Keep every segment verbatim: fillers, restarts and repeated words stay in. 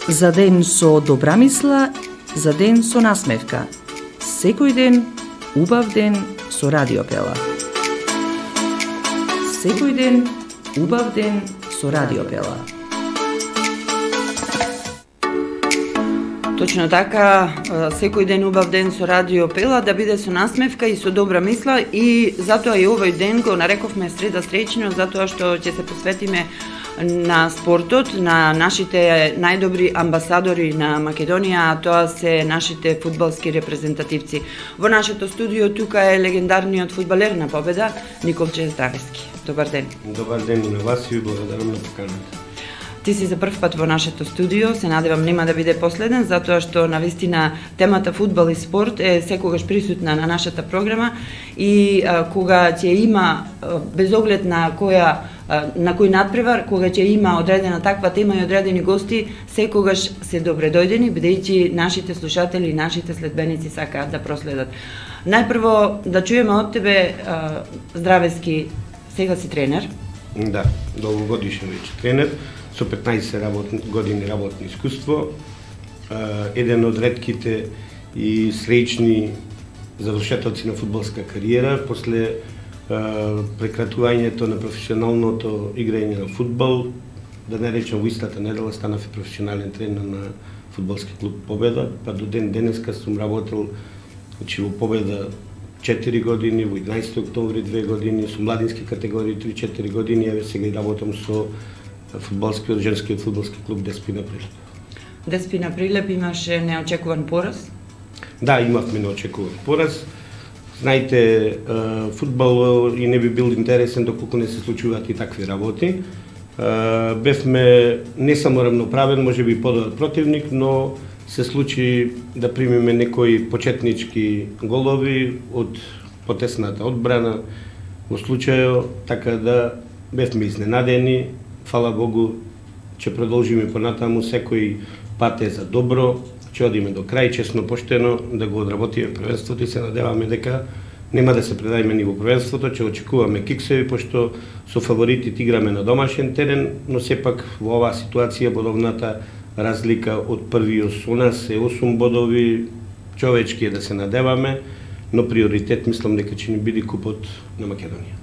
За ден со добра мисла, за ден со насмевка. Секој ден, убав ден со Радио Пела. Секој ден, убав ден со Радио Пела. Точно така, секој ден убав ден со Радио Пела, да биде со насмевка и со добра мисла, и затоа и овој ден го нарековме Среда среќно, затоа што ќе се посветиме на спортот, на нашите најдобри амбасадори на Македонија, а тоа се нашите фудбалски репрезентативци. Во нашето студио тука е легендарниот фудбалер на Победа, Николче Здравески. Добар ден. Добар ден и на вас и благодарам на поканата. Ти си за прв пат во нашето студио, се надевам нема да биде последен, затоа што навистина темата фудбал и спорт е секогаш присутна на нашата програма и а, кога ќе има, а, без оглед на која на кој надпревар, кога ќе има одредена таква тема и одредени гости, секогаш се добре дојдени, бидејќи нашите слушатели и нашите следбеници сакаат да проследат. Најпрво да чуеме од тебе, а, Здравески, сега си тренер. Да, долгогодишен веќе тренер, со петнаесет работни, години работно искуство, еден од ретките и среќни завршетоци на фудбалска кариера, после прекратувањето на професионалното играње на фудбал, да не речем во истата недела станав и професионален тренер на фудбалски клуб Победа, па до ден денеска сум работел значи во Победа четири години, во единаесети октомври две години, со младински категории три-четири години, еве сега и работам со фудбалскиот женскиот фудбалски клуб Деспина Прилеп. Деспина Прилеп имаше неочекуван пораз? Да, имавме неочекуван пораз. Знаете, фудбал и не би бил интересен доколку не се случуваат и такви работи. Бевме не само рамноправен, може би подобар противник, но се случи да примиме некои почетнички голови од потесната одбрана во случајот, така да бевме изненадени. Фала Богу, ќе продолжиме понатаму, секој пат е за добро, ќе одиме до крај, честно, поштено, да го одработиме првенството и се надеваме дека нема да се предајме ни во првенството, ќе очекуваме киксеви, пошто со фаворитите играме на домашен терен, но сепак во оваа ситуација бодовната разлика од првиот со нас е осум бодови, човечки е да се надеваме, но приоритет мислам дека ќе ни биде купот на Македонија.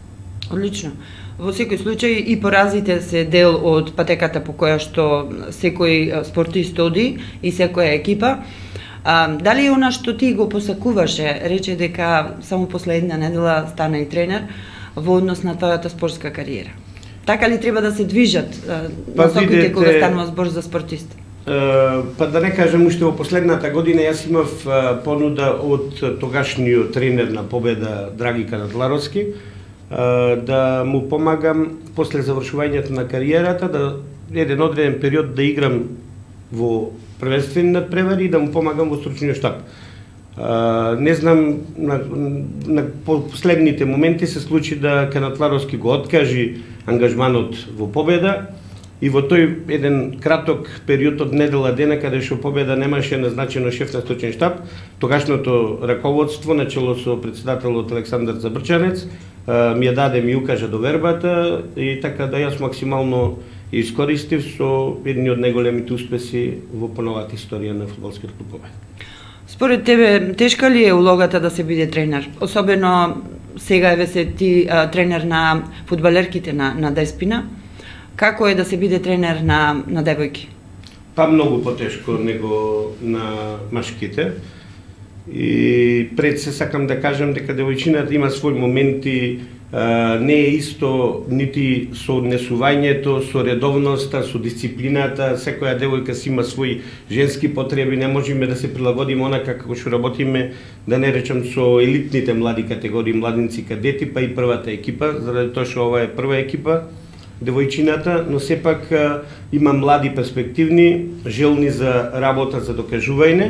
Одлично. Во секој случај и поразите се дел од патеката по која што секој спортист оди и секоја екипа. А, дали е она што ти го посакуваше, рече дека само после една недела стана и тренер во однос на твојата спортска кариера? Така ли треба да се движат па, насоките кога станува збор за спортист? Па да не кажем, уште во последната година јас имав понуда од тогашниот тренер на Победа Драгика Надларовски, да му помагам после завршувањето на кариерата, да еден одреден период да играм во првенствени надпревари и да му помагам во стручниот штаб. Не знам, на, на последните моменти се случи да Канатларовски го откажи ангажманот во Победа и во тој еден краток период од недела дена каде што Победа немаше назначено шеф на стручен штаб, тогашното раководство начело со председателот Александар Забрчанец ми ја даде, ми укажа довербата и така да јас максимално искористив со едни од најголемите успеси во поновата историја на фудбалскиот клуб Победа. Според тебе, тешка ли е улогата да се биде тренер? Особено сега еве се ти а, тренер на фудбалерките на, на Деспина. Како е да се биде тренер на, на девојки? Па многу потешко него на машките. И пред се сакам да кажам дека девојчината има своји моменти, а, не е исто нити со однесувањето, со редовноста, со дисциплината, секоја девојка си има своји женски потреби, не можеме да се прилагодиме онака како што работиме, да не речам со елитните млади категории, младинци, кадети, па и првата екипа, заради тоа што ова е прва екипа, девојчината, но сепак а, има млади перспективни, желни за работа, за докажување,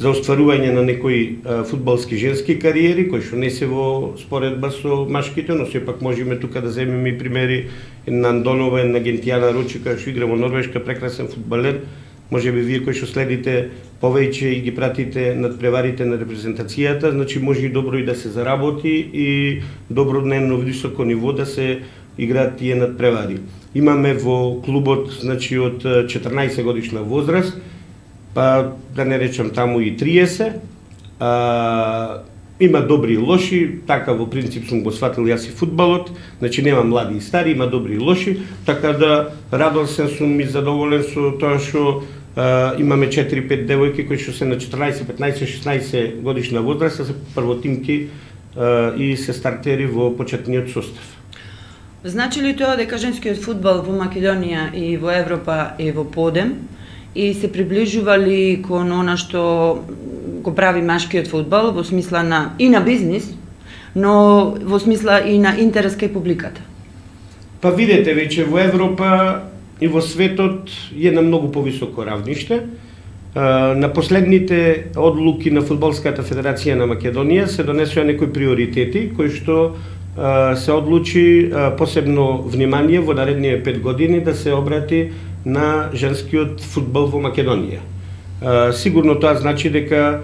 за остварување на некои а, фудбалски женски кариери, кои што не се во споредба со машките, но сепак можеме тука да земеме и примери на Андонова, на Гентијана Ручика, што игра во Норвешка, прекрасен фудбалер. Може би вие кои што следите повеќе и ги пратите надпреварите на репрезентацијата, значи може и добро и да се заработи и добро на едно високо ниво да се играат тие надпревари. Имаме во клубот, значи од четрнаесет годишна возраст, па да не речам таму и триесет, а, има добри и лоши, така во принцип сум го сватил јас и фудбалот, значи нема млади и стари, има добри и лоши, така да радосен сум и задоволен со тоа што а, имаме четири-пет девојки кои што се на четрнаесет, петнаесет, шеснаесет годишна возраст, се првотимки а, и се стартери во почетниот состав. Значи ли тоа дека женскиот фудбал во Македонија и во Европа е во подем и се приближува ли кон она што го прави машкиот фудбал во смисла на и на бизнис, но во смисла и на интерес кај публиката? Па видете, веќе во Европа и во светот е на многу повисоко равниште. На последните одлуки на Фудбалската федерација на Македонија се донесоа некои приоритети кои што се одлучи посебно внимание во наредните пет години да се обрати на женскиот фудбал во Македонија. Сигурно тоа значи дека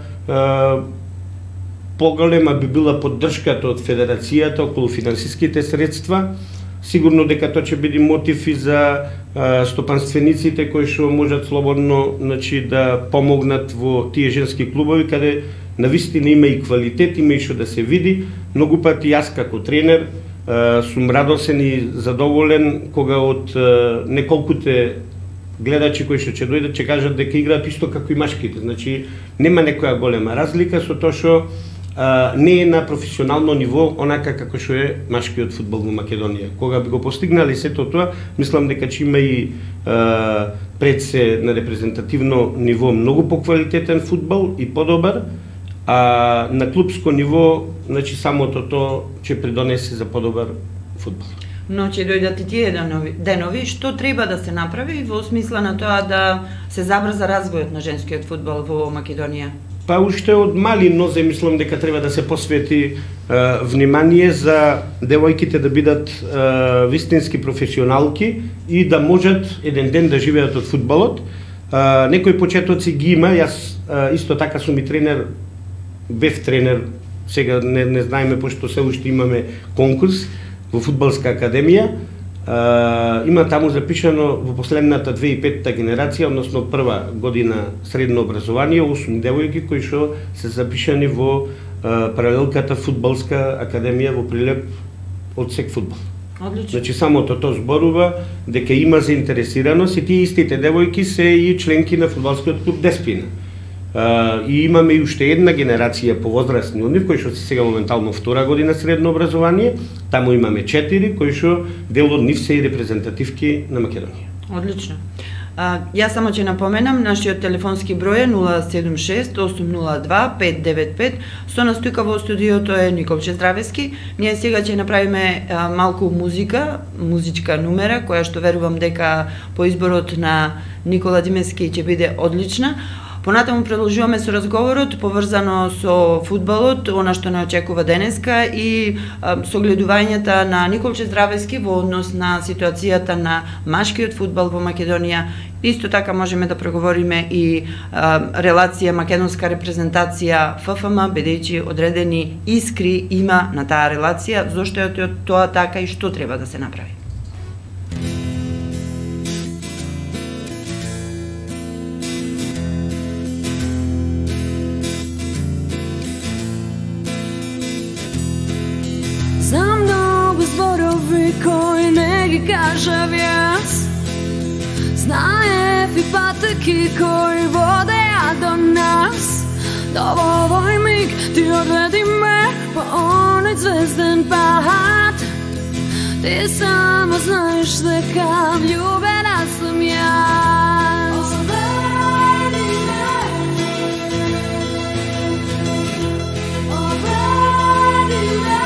поголема би била поддршката од федерацијата околу финансиските средства. Сигурно дека тоа ќе биде мотив и за стопанствениците кои што можат слободно, значи, да помогнат во тие женски клубови каде навистина има и квалитет, има и што да се види. Многу пати јас како тренер сум радосен и задоволен кога од неколкуте гледачи кои што ќе дојдат ќе кажат дека играат исто како и машките. Значи нема некоја голема разлика со тоа што не е на професионално ниво онака како што е машкиот фудбал во Македонија. Кога би го постигнали сето тоа, мислам дека ќе има и а, пред се на репрезентативно ниво многу поквалитетен фудбал и подобар, а на клубско ниво, значи самото тоа ќе придонесе за подобар фудбал. Но ќе дојдат и тие денови, денови, што треба да се направи во смисла на тоа да се забрза развојот на женскиот фудбал во Македонија? Па уште од мали нозе мислам дека треба да се посвети е, внимание за девојките да бидат е, вистински професионалки и да можат еден ден да живеат од фудбалот. Е, некои почетоци ги има, јас е, исто така сум и тренер, бев тренер, сега не, не знаеме пошто се уште имаме конкурс во Фудбалска академија. Uh, има таму запишано во последната две и петта генерација, односно прва година средно образование, осум девојки кои што се запишани во uh, паралелката Фудбалска академија во Прилеп од сек фудбал. Одлично. Значи самото тоа зборува дека има заинтересираност и тие истите девојки се и членки на фудбалскиот клуб Деспина. Uh, и имаме и уште една генерација по возрастни од нив, кои што се сега моментално втора година средно образование. Таму имаме четири, кои што дел од нив се и репрезентативки на Македонија. Одлично. А, јас само ќе напоменам, нашиот телефонски број е нула седум шест осум нула два пет девет пет. Со нас тука во студиото е Николче Здравески. Ние сега ќе направиме а, малку музика, музичка numera, која што верувам дека по изборот на Никола Димески ќе биде одлична. Понатаму продолжуваме со разговорот поврзано со фудбалот, она што не очекува денеска и а, согледувањата на Николче Здравески во однос на ситуацијата на машкиот фудбал во Македонија. Исто така можеме да проговориме и а, релација македонска репрезентација Ф Ф М, бидејќи одредени искри има на таа релација, зошто е тоа така и што треба да се направи. Кој не ги кажав јас, знаев и патеки кои водеа до нас. Да во овој миг ти одведи ме по оној звезден пат. Ти само знаеш дека влюбена сум јас. Одведи ме, одведи ме.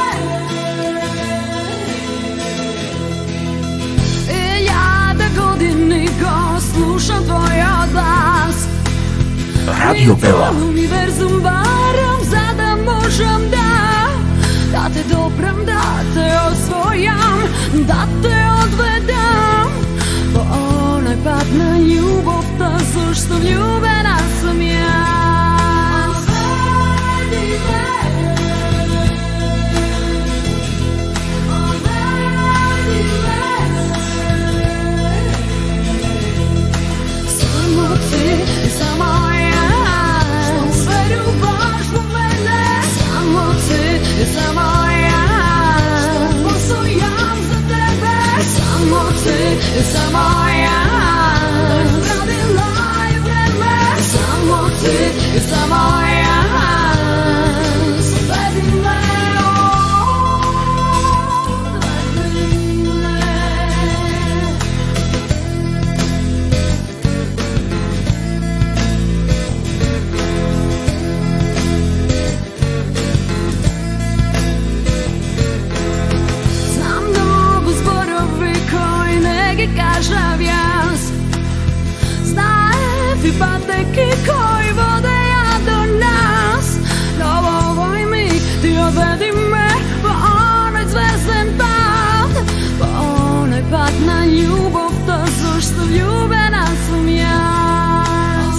Години го слушам твојот глас. Радио Бела. Универзум барам за да можам да да те допрам, да те освојам, да те одведам по оној пат на љубовта, зашто влюбена сум јас. Одведи ме, одведи ме. реки кои водеја до нас. Но во овој миг ти одведи ме по оној звезден пат, по оној пат на љубовта, зашто влюбена сум јас.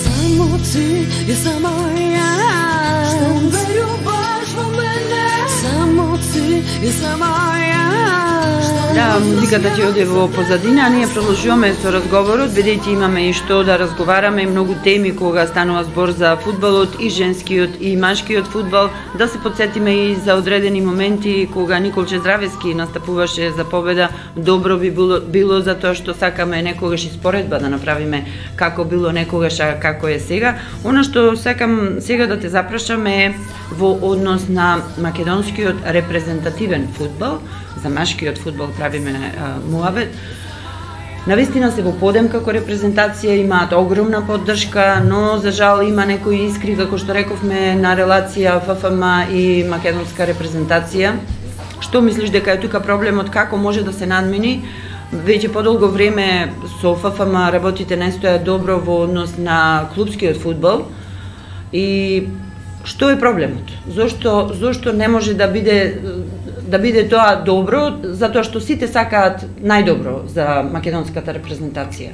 Само ти и само јас, што веруваш во мене. Само ти и само јас. Да, музиката ќе оде во позадина, а ние продолжуваме со разговорот, бидејќи имаме и што да разговараме, и многу теми кога станува збор за фудбалот, и женскиот и машкиот фудбал, да се подсетиме и за одредени моменти кога Николче Здравески настапуваше за победа. Добро би било, било затоа што сакаме некогаш испоредба да направиме како било некогаш, а како е сега. Она што сакам сега да те запрашам е во однос на македонскиот репрезентативен фудбал. За машкиот фудбал правиме муабет. Навистина се во подем како репрезентација, имаат огромна поддршка, но за жал има некои искри, како што рековме, на релација Ф Ф М и македонска репрезентација. Што мислиш дека е тука проблемот, како може да се надмени? Веќе подолго време со Ф Ф М работите најстоја добро во однос на клубскиот фудбал. И што е проблемот? Зошто зошто не може да биде да биде тоа добро, затоа што сите сакаат најдобро за македонската репрезентација?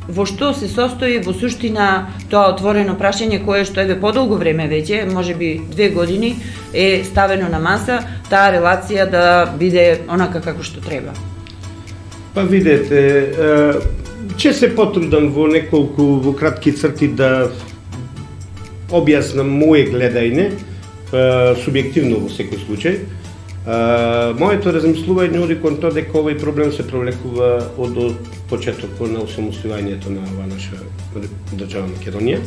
Во што се состои во суштина тоа отворено прашање кое што еве подолго време веќе, можеби две години, е ставено на маса, таа релација да биде онака како што треба? Па видете, ќе се потрудам во неколку во кратки црти да објаснам моје гледање, субјективно во секој случај. Uh, моето размислување оди кон тоа дека овој проблем се провлекува од, од почетокот на осамостојањето на ова наша држава Македонија.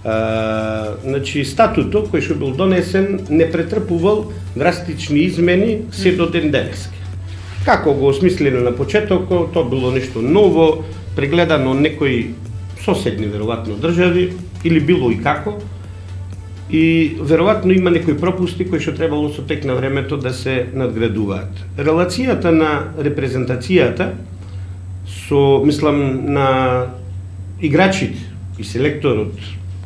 Uh, значи, статутот кој што бил донесен не претрпувал драстични измени се до ден денеска. Како го осмислено на почетокот, тоа било нешто ново, прегледано од некои соседни веројатно држави или било и како. И веројатно има некои пропусти кои што требало со тек на времето да се надградуваат. Релацијата на репрезентацијата со, мислам, на играчите и селекторот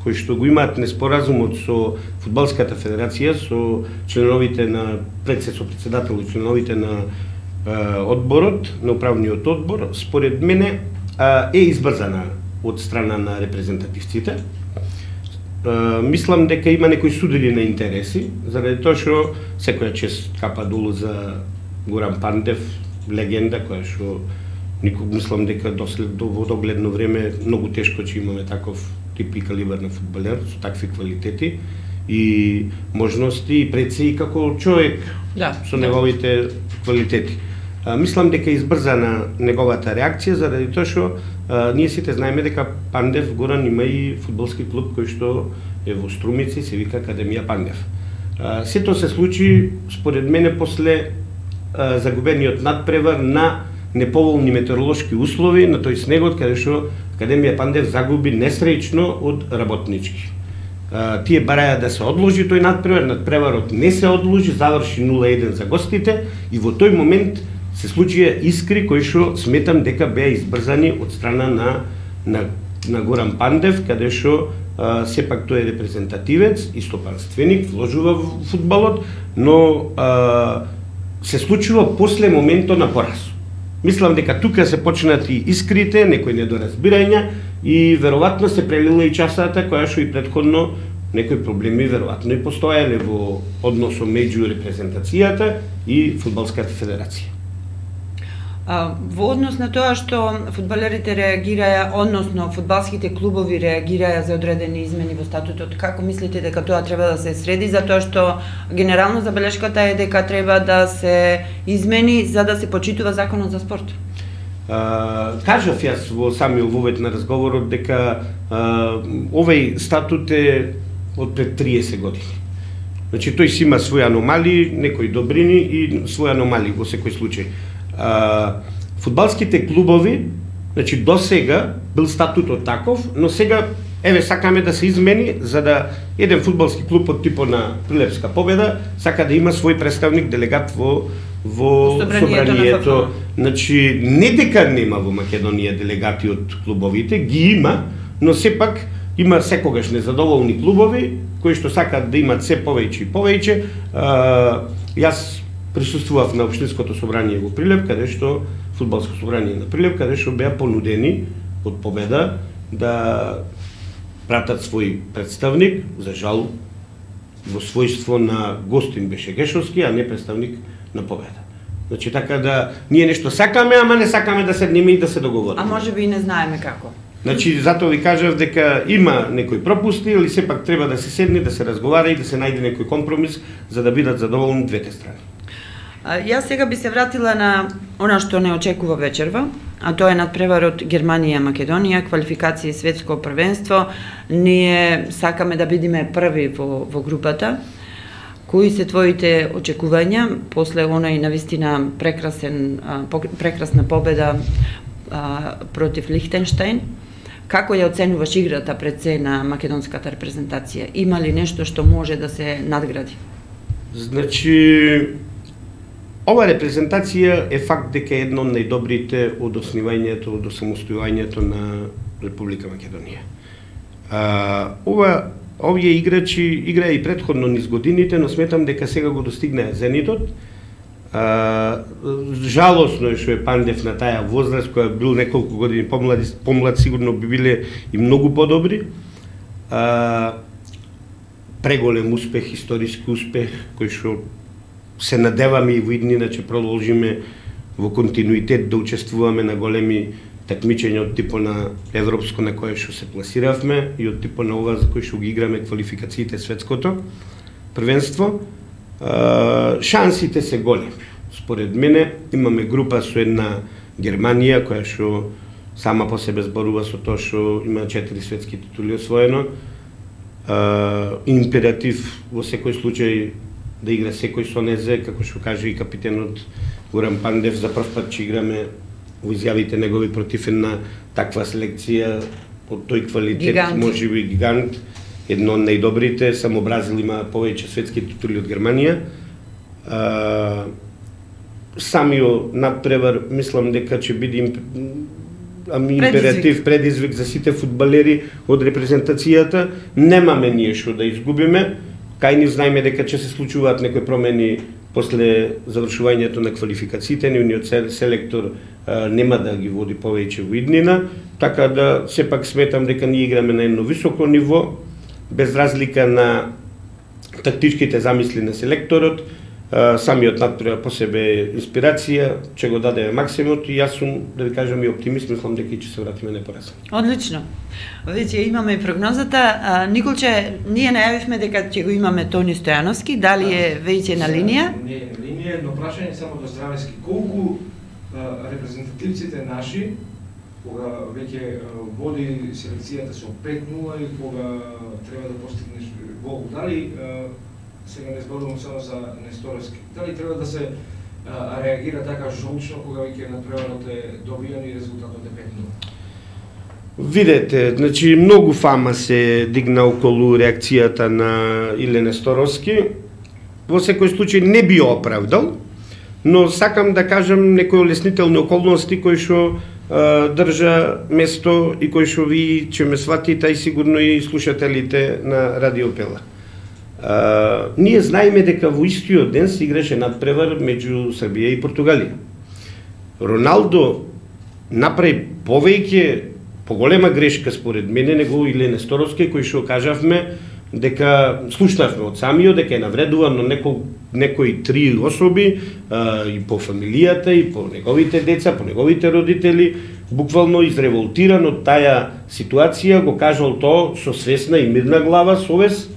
кои што го имаат неспоразумот со фудбалската федерација, со членовите на председател, председател и членовите на е, одборот, на управниот одбор, според мене е избрзана од страна на репрезентативците. Uh, мислам дека има некои судили на интереси, заради тоа што секоја чест капа долу за Горан Пандев, легенда која што никог мислам дека дослед во догледно време многу тешко ќе имаме таков тип и калибар на фудбалер со такви квалитети и можности и пред се и како човек, да, со неговите квалитети. Uh, мислам дека избрзана неговата реакција заради тоа што Uh, ние сите знаеме дека Пандев Горан има и фудбалски клуб кој што е во Струмици, се вика Академија Пандев. Uh, сето се случи, според мене, после uh, загубениот надпревар на неповолни метеоролошки услови, на тој снегот, каде што Академија Пандев загуби несреќно од Работнички. Uh, тие бараја да се одложи тој надпревар, надпреварот не се одложи, заврши нула еден за гостите и во тој момент се случија искри кои што сметам дека беа избрзани од страна на, на, на Горан Пандев, каде што а, сепак тој е репрезентативец и стопанственик, вложува во фудбалот, но а, се случува после моментот на пораз. Мислам дека тука се почнати искрите, некои недоразбирања и веројатно се прелила и часата која што и претходно некои проблеми веројатно и постоеле во односот меѓу репрезентацијата и фудбалската федерација. Во однос на тоа што фудбалерите реагираја, односно фудбалските клубови реагираја за одредени измени во статутот, како мислите дека тоа треба да се среди, затоа што генерално забелешката е дека треба да се измени за да се почитува законот за спорт? Uh, кажав јас во самиот вовет на разговорот дека uh, овој статут е од пред триесет години. Значи тој си има своји аномалии, некои добрини и своји аномалии во секој случај. Uh, фудбалските клубови, значи до сега бил статутот таков, но сега еве сакаме да се измени за да еден фудбалски клуб од типот на Прилепска Победа сака да има свој представник делегат во во собранието. Значи не дека нема во Македонија делегати од клубовите, ги има, но сепак има секогаш незадоволни клубови кои што сакаат да имат се повеќе и повеќе. Јас присуствував на општинското собрание во Прилеп, каде што фудбалско собрание на Прилеп, каде што беа понудени од Победа да пратат свој представник, за жал во својство на гостин беше Гешовски, а не представник на Победа. Значи така да ние нешто сакаме, ама не сакаме да седнеме и да се договориме. А може би и не знаеме како. Значи затоа ви кажав дека има некои пропусти, или сепак треба да се седне, да се разговара и да се најде некој компромис за да бидат задоволни двете страни. Јас сега би се вратила на она што не очекува вечерва, а тоа е надпреварот Германија-Македонија, квалификација светско првенство. Ние сакаме да бидеме први во, во групата. Кои се твоите очекувања после онај навистина прекрасен прекрасна победа а, против Лихтенштајн? Како ја оценуваш играта пред се на македонската репрезентација? Има ли нешто што може да се надгради? Значи, ова репрезентација е факт дека е едно од најдобрите од основањето, од осамостојувањето на Република Македонија. А, ова, овие играчи играа и предходно низ годините, но сметам дека сега го достигнаа зенитот. А, жалосно е што е Пандев на таа возраст, која бил неколку години помлад, помлад сигурно би биле и многу подобри. А, преголем успех, историски успех, кој што се надеваме и во иднина ќе продолжиме во континуитет да учествуваме на големи такмичења од типот на европско на кое што се пласиравме и од типот на ова за кој што ги играме квалификациите светското првенство. Шансите се големи. Според мене имаме група со една Германија која што сама по себе зборува со тоа што има четири светски титули освоено. Императив во секој случај да игра секој со незе, како што каже и капитенот Горан Пандев, за прв пат ќе играме во изјавите негови против една таква селекција од тој квалитет, може би гигант, едно од најдобрите, само Бразил има повеќе светски титули од Германија. А, самиот надпревар, мислам дека ќе биде императив, предизвик за сите фудбалери од репрезентацијата. Немаме ние што да изгубиме. Кај ни знаеме дека ќе се случуваат некои промени после завршувањето на квалификациите, нивниот селектор а, нема да ги води повеќе во иднина, така да сепак сметам дека ние играме на едно високо ниво, без разлика на тактичките замисли на селекторот. А, самиот надпревар по себе инспирација, ќе го дадеме максимумот и јас сум, да ви кажам, и оптимист, мислам дека ќе се вратиме непоразен. Одлично. Веќе имаме и прогнозата. А, Николче, ние најавивме дека ќе го имаме Тони Стојановски, дали е веќе на линија? Не е на линија, но прашање само до здравески. Колку а, репрезентативците наши, кога веќе води селекцијата со пет нула и кога треба да постигнеш гол, дали а, сега не зборувам само за Несторовски, дали треба да се а, реагира така жолчно кога веќе надпреварот е добиен и резултатот е пет нула? Видете, значи многу фама се дигна околу реакцијата на Иле Несторовски. Во секој случај не би оправдал, но сакам да кажам некои олеснителни околности кои што држа место и кои што ви ќе ме сватите, и сигурно и слушателите на Радио Пела. Uh, ние знаеме дека во истиот ден се играше надпревар меѓу Србија и Португалија. Роналдо направи повеќе, поголема грешка според мене него Иле Несторовски, кој што кажавме дека слушнавме од самиот дека е навредуван на некој некои три особи uh, и по фамилијата и по неговите деца, по неговите родители, буквално изреволтиран од таа ситуација, го кажал тоа со свесна и мирна глава, совест.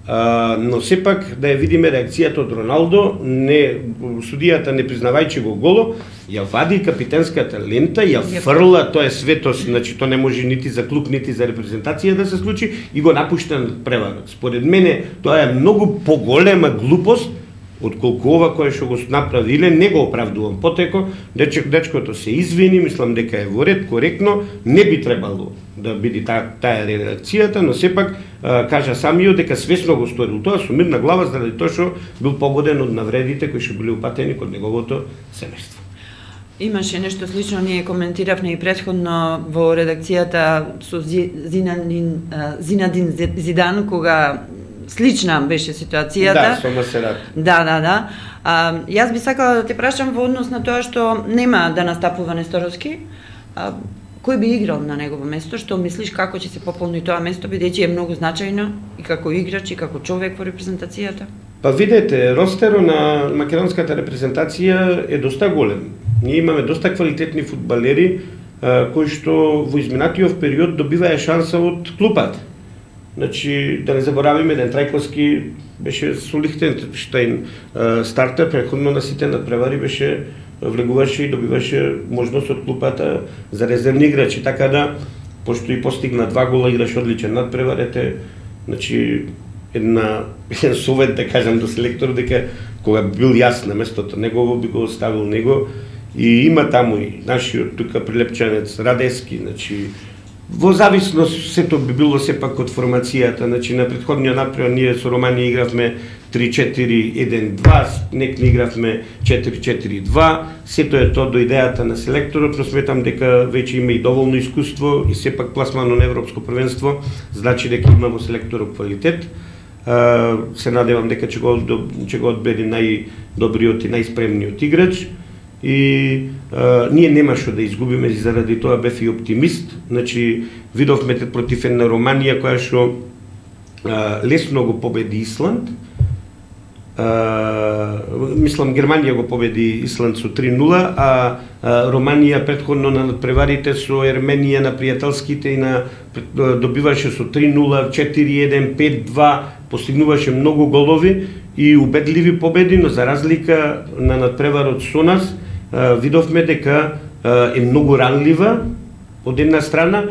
Uh, но сепак да ја видиме реакцијата од Роналдо, не, судијата не признавајќи го голо, ја вади капитенската лента, ја фрла, тоа е светост, значи тоа не може нити за клуб, нити за репрезентација да се случи, и го напушта на преварот. Според мене тоа е многу поголема глупост отколку ова кое што го направиле, не го оправдувам потеко, дечек, дечкото се извини, мислам дека е во ред, коректно, не би требало да биде та, таа реакцијата, но сепак а, кажа самиот дека свесно го сторил тоа со мирна глава, заради тоа што бил погоден од навредите кои што били упатени код неговото семејство. Имаше нешто слично, ние коментиравме и претходно во редакцијата со Зинадин, Зинадин Зидан, кога слична беше ситуацијата. Да, со Масерат. Да, да, да. А, јас би сакала да те прашам во однос на тоа што нема да настапува Несторовски. А, кој би играл на негово место? Што мислиш како ќе се пополни тоа место, бидејќи е многу значајно и како играч и како човек во репрезентацијата? Па видете, ростеро на македонската репрезентација е доста голем. Ние имаме доста квалитетни фудбалери кои што во изминатиот период добиваа шанса од клубот. Значи, да не заборавиме, Ден Трајковски беше со Лихтенштейн стартер, претходно на сите надпревари беше влегуваше и добиваше можност од клупата за резервни играчи, така да, пошто и постигна два гола, играш одличен надпревар, ете, значи, една, еден совет, да кажам, до селектор, дека кога бил јас на местото негово, би го оставил него, и има таму и нашиот тука прилепчанец Радески, значи, во зависност сето би било сепак од формацијата, значи на претходниот надпревар ние со Романија игравме три четири еден два, некни игравме четири четири два, сето е тоа до идејата на селекторот, но сметам дека веќе има и доволно искуство и сепак пласмано на европско првенство, значи дека има во селекторот квалитет. Се надевам дека ќе го ќе го одбере најдобриот и најспремниот играч. И а, ние немаше да изгубиме, и заради тоа бев и оптимист. Значи, видовме против една Романија која што а, лесно го победи Исланд. А, мислам, Германија го победи Исланд со три нула, а, а Романија претходно на надпреварите со Ерменија на пријателските и на добиваше со три нула, четири еден, пет два, постигнуваше многу голови и убедливи победи, но за разлика на надпреварот со нас, видовме дека е многу ранлива од една страна,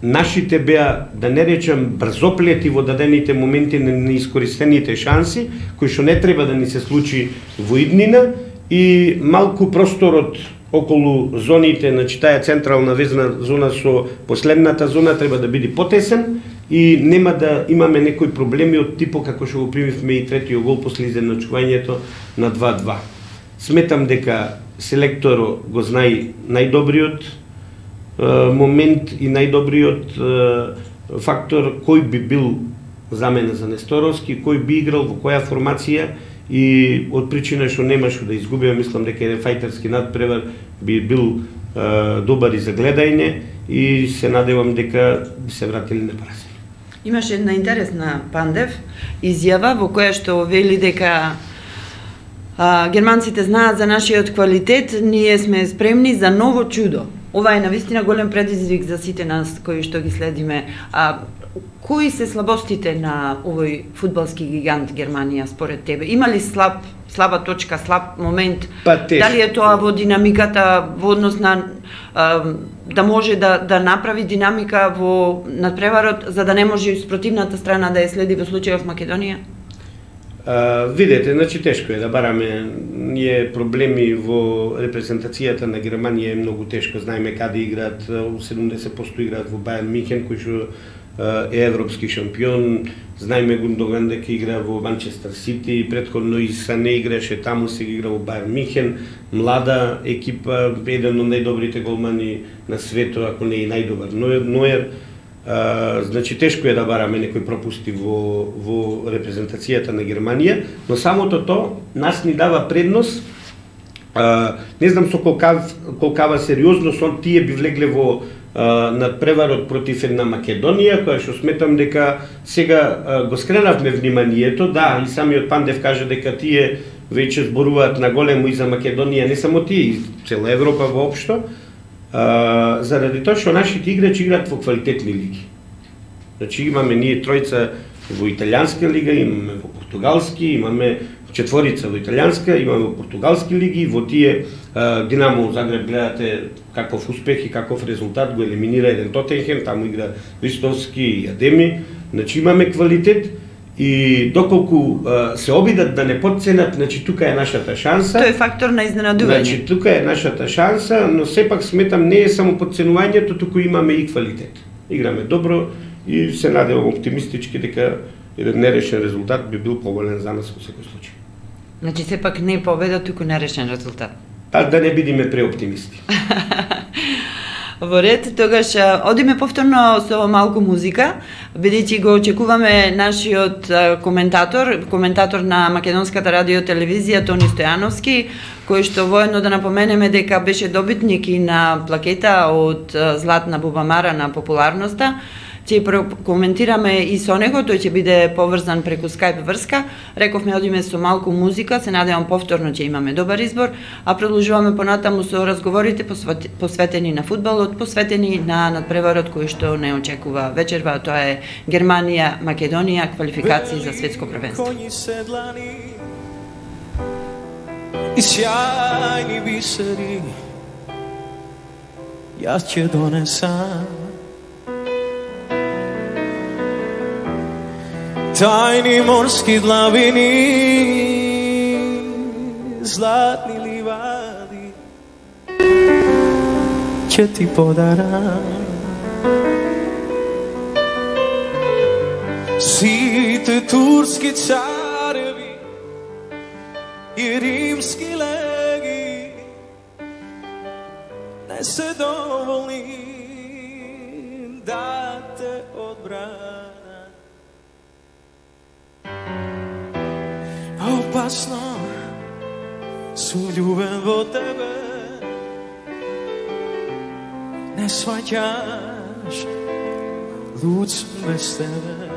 нашите беа, да не речем, брзоплети во дадените моменти на неискористените шанси, кои што не треба да ни се случи во иднина, и малку просторот околу зоните, значи таа централна везна зона со последната зона треба да биде потесен и нема да имаме некои проблеми од типо како што го примивме и третиот гол после изедначувањето на два два. Сметам дека селекторот го знае најдобриот е, момент и најдобриот е, фактор кој би бил замена за Несторовски, кој би играл во која формација, и од причина што немаше да изгубиме, мислам дека еден фајтерски надпревар би бил е, добар и за гледање, и се надевам дека би се вратили на празен. Имаше една интересна Пандев изјава во која што вели дека а, германците знаат за нашиот квалитет, ние сме спремни за ново чудо. Ова е навистина голем предизвик за сите нас кои што ги следиме. А, кои се слабостите на овој фудбалски гигант Германија според тебе? Има ли слаб, слаба точка, слаб момент? Па, дали е тоа во динамиката, во однос на а, да може да, да направи динамика во надпреварот, за да не може и спротивната страна да ја следи во случајот Македонија? Uh, видете, значи тешко е да бараме, ние проблеми во репрезентацијата на Германија е многу тешко, знаеме каде играат, седумдесет проценти играат во Бајерн Михен, кој што е европски шампион, знаеме Гундоган дека игра во Манчестер Сити, претходно и Сане играше таму, сега игра во Бајерн Михен, млада екипа, еден од најдобрите голмани на светот, ако не и најдобар Ноер. Uh, значи тешко е да бараме некои пропусти во, во репрезентацијата на Германија, но самото тоа нас ни дава предност. Uh, не знам со колкав, колкава сериозност он тие би влегле во uh, надпреварот против една Македонија, која што сметам дека сега uh, го скренавме вниманието, да, и самиот Пандев каже дека тие веќе зборуваат на големо и за Македонија, не само тие, и цела Европа воопшто. Uh, заради тоа што нашите играчи играат во квалитетни лиги. Значи имаме ние тројца во италијанска лига, имаме во португалски, имаме четворица во италијанска, имаме во португалски лиги, во тие uh, Динамо Загреб гледате каков успех и каков резултат, го елиминира еден Тотенхем, таму игра Ристовски и Адеми. Значи имаме квалитет И доколку а, се обидат да не потценат, значи тука е нашата шанса. Тој е фактор на изненадување. Значи тука е нашата шанса, но сепак сметам не е само потценувањето, туку имаме и квалитет. Играме добро и се надевам оптимистички дека еден нерешен резултат би бил поволен за нас во секој случај. Значи сепак не победа, туку нерешен резултат. Па да не бидеме преоптимисти. Во ред, тогаш одиме повторно со малку музика, бидејќи го очекуваме нашиот коментатор, коментатор на Македонската радио телевизија Тони Стојановски, кој што воедно да напоменеме дека беше добитник и на плакета од Златна бубамара на популарноста. Ќе коментираме и со него, тој ќе биде поврзан преку Skype врска. Рековме одиме со малку музика, се надевам повторно ќе имаме добар избор, а продолжуваме понатаму со разговорите посветени на фудбалот, посветени на надпреварот кој што не очекува вечерва, тоа е Германија, Македонија, квалификации за светско првенство. И сјајни бисери, јас ќе донесам тајни морски длабини, златни ливади, ќе ти подарам. Сите турски цареви и римски леги не се доволни да те одбранат. Опасно сум љубен во тебе, не сваќаш, луд сум без тебе.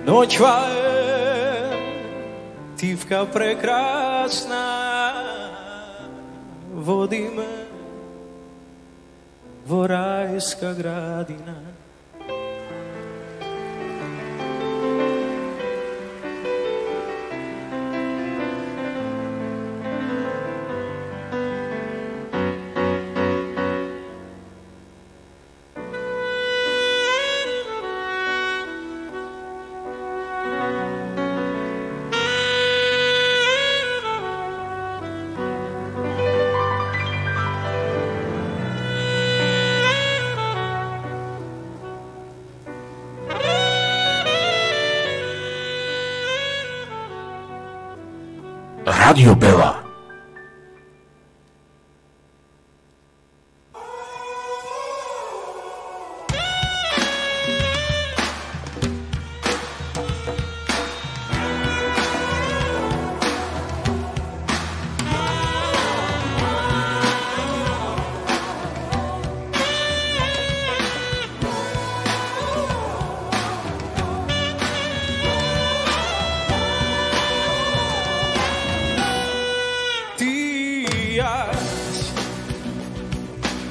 Ноќва е тивка прекрасна, води ме во рајска градина. Радио Бела.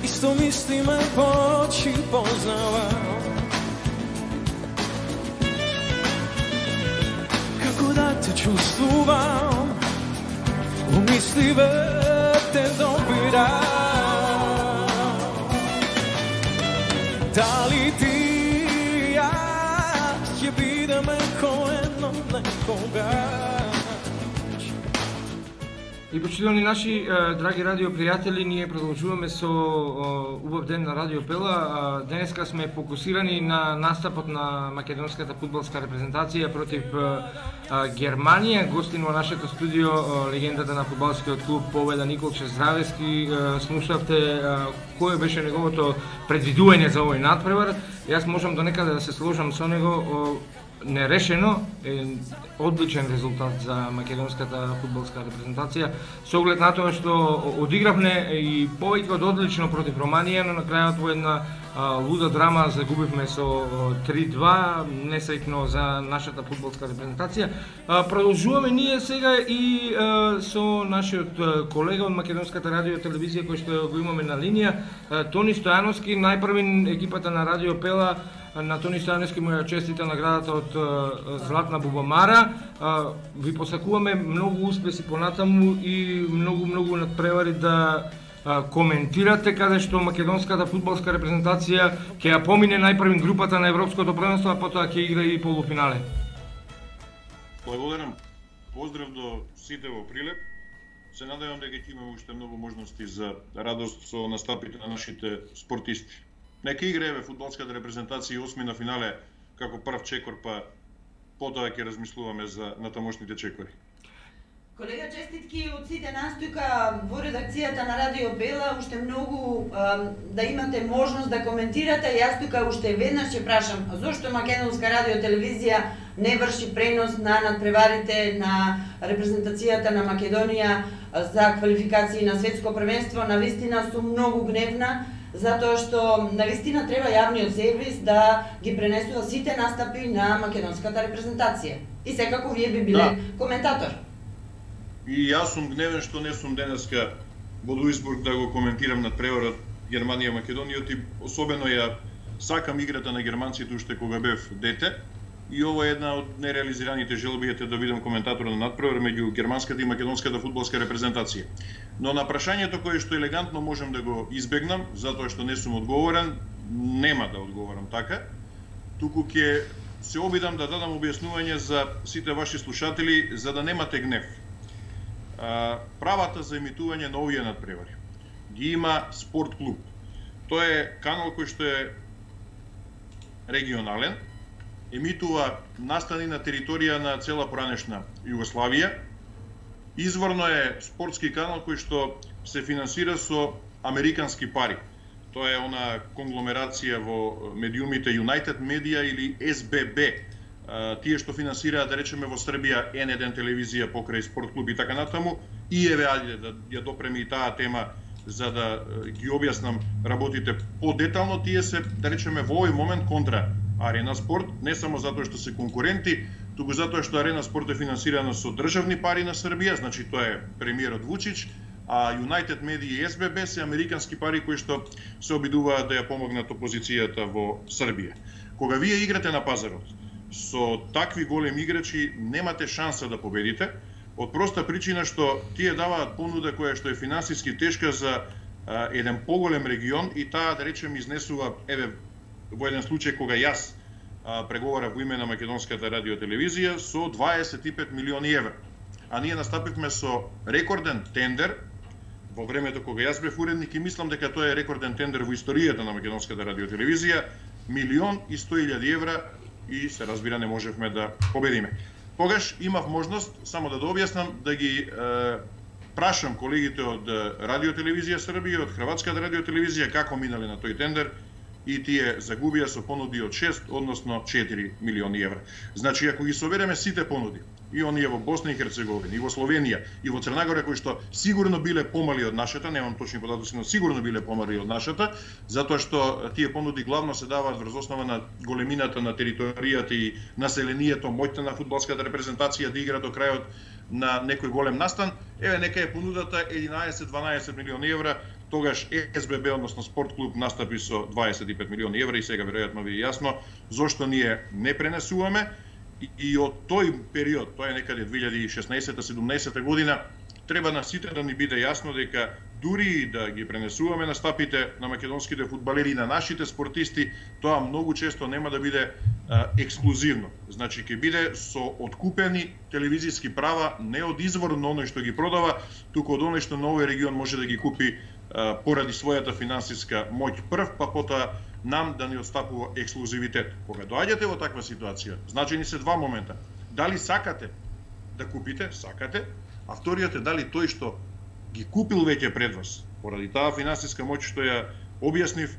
Исто мислиме, почи познавам, како да те чувствувам, у мисливе те допирам. Дали ти и јас ќе бидеме ко едно некогаш? И почитувани наши драги радио пријатели, ние продолжуваме со убав ден на Радио Пела. Денеска сме фокусирани на настапот на македонската фудбалска репрезентација против Германија. Гостин во нашето студио легендата на фудбалскиот клуб Победа Николче Здравески. Слушавте кој беше неговото предвидување за овој надпревар. Јас можам до некаде да се сложам со него. Нерешено е одличен резултат за македонската фудбалска репрезентација, со оглед на тоа што одигравме и повеќе од одлично против Романија, но на крајот во една а, луда драма загубивме со три-два, несреќно за нашата фудбалска репрезентација. А, продолжуваме ние сега и а, со нашиот колега од Македонската радио телевизија кој што го имаме на линија, а, Тони Стојановски, најпрвин екипата на Радио Пела. На Тони Стојановски му ја честита наградата од Златна бубамара. Ви посакуваме многу успеси понатаму и многу многу надпревари да коментирате каде што македонската фудбалска репрезентација ќе ја помине најпрвин групата на европското првенство, а потоа ќе игра и полуфинале. Благодарам. Поздрав до сите во Прилеп. Се надевам дека ќе имаме уште многу можности за радост со настапите на нашите спортисти. Нека играеме фудбалската репрезентација осми на финале како прв чекор, па потоа ќе размислуваме за натамошните чекори. Колега, честитки од сите нас тука во редакцијата на Радио Бела, уште многу а, да имате можност да коментирате. Јас тука уште веднаш ќе прашам зошто Македонска радио телевизија не врши пренос на надпреварите на репрезентацијата на Македонија за квалификации на светско првенство. Навистина сум многу гневна, затоа што навистина треба јавниот сервис да ги пренесува сите настапи на македонската репрезентација. И секако вие би биле да. коментатор. И јас сум гневен што не сум денеска во Дуисбург да го коментирам надпреварот Германија-Македонија, и особено ја сакам играта на германците уште кога бев дете. И ова е една од нереализираните желби да бидам коментатор на надпревар меѓу германската и македонската фудбалска репрезентација. Но на прашањето кое што елегантно можам да го избегнам, затоа што не сум одговорен, нема да одговорам така, туку ќе се обидам да дадам објаснување за сите ваши слушатели за да немате гнев. Правата за емитување на овие надпревари ги има Спорт клуб. Тоа е канал кој што е регионален, емитува настани на територија на цела поранешна Југославија. Изворно е спортски канал кој што се финансира со американски пари. Тоа е она конгломерација во медиумите United Media или Ес Бе Бе. Тие што финансираат, да речеме, во Србија Ен еден телевизија покрај Спорт клуб и така натаму. И еве, ајде да ја допреме и таа тема за да ги објаснам работите подетално. Тие се, да речеме, во овој момент контра Арена Спорт, не само затоа што се конкуренти, туку затоа што Арена Спорт е финансирана со државни пари на Србија, значи тоа е премиерот Вучич, а United Media и Ес Бе Бе се американски пари кои што се обидуваат да ја помогнат опозицијата во Србија. Кога вие играте на пазарот со такви големи играчи, немате шанса да победите, од проста причина што тие даваат понуда која што е финансиски тешка за а, еден поголем регион и таа, да речем, изнесува, еве, во еден случај кога јас а, преговарав во име на Македонската радиотелевизија со дваесет и пет милиони евра. А ние настапивме со рекорден тендер во времето кога јас бев уредник и мислам дека тоа е рекорден тендер во историјата на Македонската радиотелевизија, милион и сто илјади евра, и се разбира не можевме да победиме. Тогаш имав можност, само да да објаснам, да ги е, прашам колегите од Радиотелевизија Србија, од Хрватската радиотелевизија како минале на тој тендер и тие загубија со понуди од шест, односно четири милиони евра. Значи, ако ги собереме сите понуди, и оние во Босна и Херцеговина, и во Словенија, и во Црна Гора, кои што сигурно биле помали од нашата, немам точни податоци, но сигурно биле помали од нашата, затоа што тие понуди главно се даваат врз основа на големината на територијата и населението, моќта на фудбалската репрезентација да игра до крајот на некој голем настан. Еве, нека е понудата единаесет-дванаесет милиони евра, тогаш Ес Бе Бе, односно Спорт клуб, настапи со дваесет и пет милиони евра и сега веројатно ви е јасно зошто ние не пренесуваме. И, и од тој период, тоа е некаде две илјади и шеснаесета-седумнаесета година, треба на сите да ни биде јасно дека дури да ги пренесуваме настапите на македонските фудбалери и на нашите спортисти, тоа многу често нема да биде а, ексклузивно. Значи, ќе биде со откупени телевизиски права, не од изворно оној што ги продава, туку од оној што на овој регион може да ги купи а, поради својата финансиска моќ прв, па потоа нам да ни отстапува ексклузивитет. Кога доаѓате во таква ситуација, значени се два момента. Дали сакате да купите, сакате, а вториот е дали тој што ги купил веќе пред вас, поради таа финансиска моќ што ја објаснив,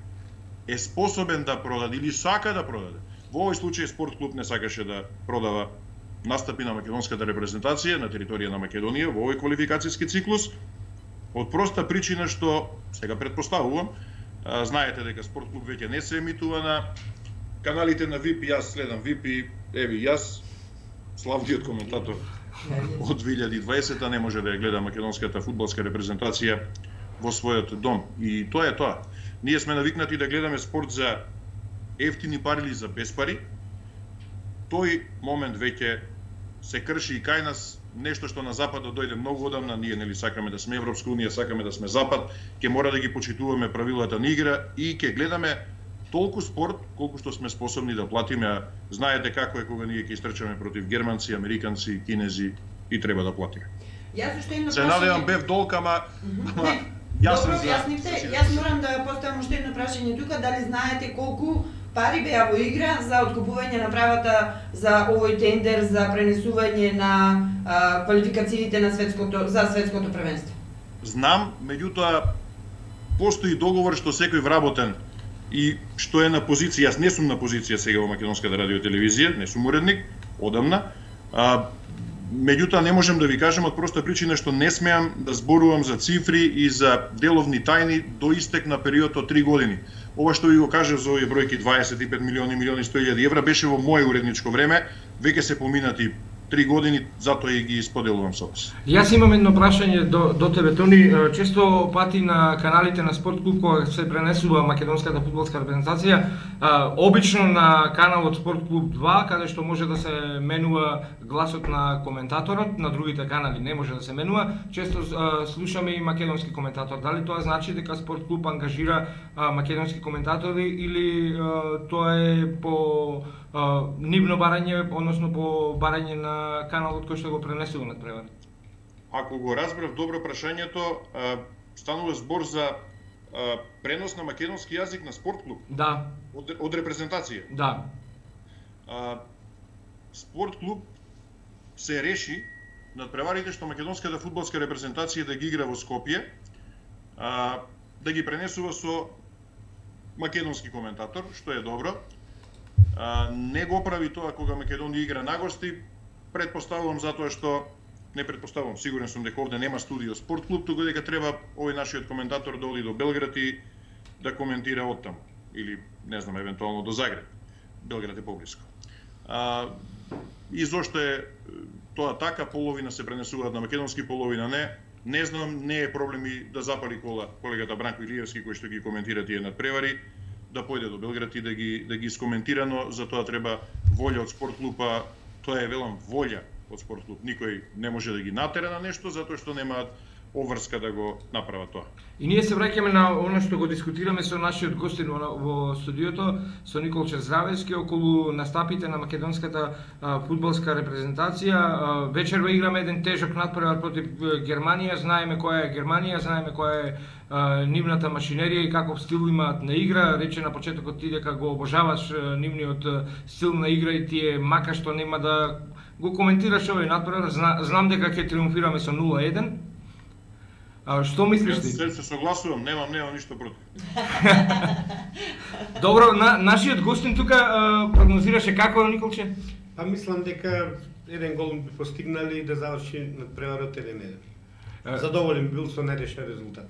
е способен да продаде или сака да продаде. Во овој случај Спорт клуб не сакаше да продава настапи на македонската репрезентација на територија на Македонија во овој квалификацијски циклус, од проста причина што, сега претпоставувам, знаете дека Спорт клуб веќе не се емитува на каналите на ВИП, јас следам ВИП и еви јас, славниот коментатор од две илјади и дваесета не може да ја гледа македонската фудбалска репрезентација во својот дом. И тоа е тоа. Ние сме навикнати да гледаме спорт за ефтини пари или за без пари. Тој момент веќе се крши и кај нас нешто што на западот дојде многу одамна, ние нели сакаме да сме Европска унија, сакаме да сме запад, ќе мора да ги почитуваме правилата на игра и ќе гледаме толку спорт колку што сме способни да платиме. Знаете како е кога ние ќе истрчаме против германци, американци, кинези и треба да платиме. Јас уште едно Се надевам бев долг, ама Добро, јаснивте. Јас морам да поставам уште едно прашање тука, дали знаете колку пари беа во игра за откупување на правата за овој тендер за пренесување на а, квалификациите на светското за светското првенство? Знам, меѓутоа постои договор што секој вработен и што е на позиција. Јас не сум на позиција сега во Македонската радио и телевизија, не сум уредник одамна. А, Меѓутоа не можам да ви кажам од проста причина што не смеам да зборувам за цифри и за деловни тајни до истек на период од три години. Ова што ви го кажав за овие бројки дваесет и пет милиони, милиони сто илјади евра беше во моје уредничко време, веќе се поминати три години, затоа и ги споделувам со вас. Јас имам едно прашање до, до тебе, Тони. Често пати на каналите на Спорт клуб, кога се пренесува македонската фудбалска репрезентација, обично на каналот Спорт клуб два, каде што може да се менува гласот на коментаторот, на другите канали не може да се менува, често а, слушаме и македонски коментатор. Дали тоа значи дека Спорт клуб ангажира а, македонски коментатори или а, тоа е по а, нивно барање, односно по барање на каналот кој што го пренесува над превар? Ако го разбрав добро прашањето, станува збор за пренос на македонски јазик на спорт клуб? Да. Од, од репрезентација? Да. Спорт клуб се реши над преварите што македонската фудбалска репрезентација да ги игра во Скопје, да ги пренесува со македонски коментатор, што е добро. Не го прави тоа кога Македонија игра на гости. Предпоставувам затоа што, не предпоставувам, сигурен сум дека овде нема студио спорт клуб, туку дека треба овој нашиот коментатор да оди до Белград и да коментира оттаму. Или, не знам, евентуално до Загреб. Белград е поблиско. А, и зошто е тоа така, половина се пренесуваат на македонски, половина не. Не знам, не е проблем и да запали кола колегата Бранко Илиевски, кој што ги коментира тие надпревари, да појде до Белград и да ги, да ги искоментира, но за тоа треба волја од спорт клуба. Тоа е, велам, волја од спорт клуб. Никој не може да ги натера на нешто, затоа што немаат обврска да го направат тоа. И ние се враќаме на оно што го дискутираме со нашиот гостин во, во студиото, со Николче Здравевски, околу настапите на македонската а, фудбалска репрезентација. А, вечерва играме еден тежок надпревар против Германија. Знаеме која е Германија, знаеме која е а, нивната машинерија и каков стил имаат на игра. Рече на почетокот ти дека го обожаваш а, нивниот стил на игра и ти е мака што нема да го коментираш овој надпревар. Зна, знам дека ќе триумфираме со нула еден. А што мислиш ти? Јас се согласувам, немам, немам ништо против. Добро, на, нашиот гостин тука а, прогнозираше како, Николче? Па мислам дека еден гол би постигнали да заврши надпреварот еден еден. Задоволен бил со најрешен резултат.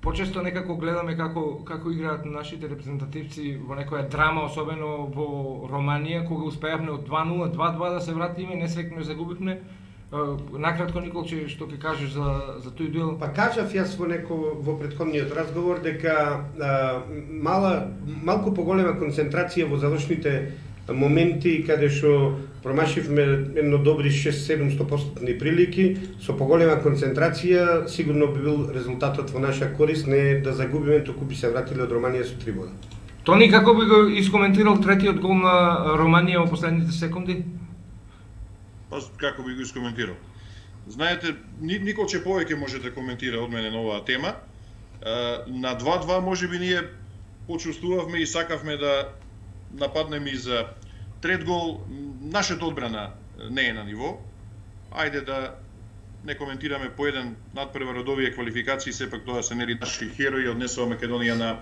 Почесто некако гледаме како како играат нашите репрезентативци во некоја драма, особено во Романија, кога успеавме од два нула, два два да се вратиме, несреќно загубивме. Накратко, Николче, што ќе кажеш за за тој дуел? Па кажав јас во неко во претходниот разговор дека а, мала малку поголема концентрација во завршните моменти каде што промашивме едно добри шест-седум проценти прилики, со поголема концентрација сигурно би бил резултатот во наша корист, не да загубиме, туку би се вратиле од Романија со три бода. Тони, како би го искоментирал третиот гол на Романија во последните секунди? Па како би го искоментирал? Знаете, Николче повеќе може да коментира од мене на оваа тема. На два два можеби ние почувствувавме и сакавме да нападнеме и за трет гол. Нашата одбрана не е на ниво. Ајде да не коментираме по еден надпревар од овие квалификации, сепак тоа се нели наши херои, однесува Македонија на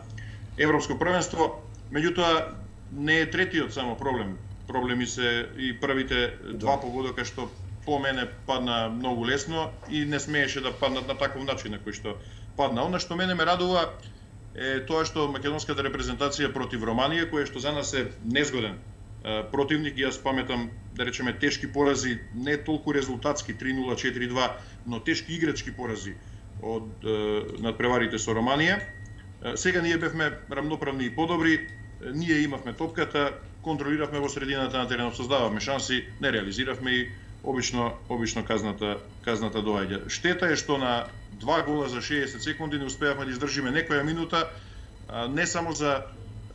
Европско првенство. Меѓутоа не е третиот само проблем. Проблеми се и првите два погодока што по мене падна многу лесно и не смееше да паднат на таков начин на кој што падна. Она што мене ме радува е тоа што македонската репрезентација против Романија, која што за нас е незгоден противник, јас паметам, да речеме, тешки порази, не толку резултатски три нула, четири два, но тешки играчки порази од надпреварите со Романија. Сега ние бевме рамноправни и подобри, ние имавме топката, контролиравме во средината на теренот, создававме шанси, не реализиравме и обично обично казната казната доаѓа. Штета е што на два гола за шеесет секунди не успеавме да издржиме некоја минута, не само за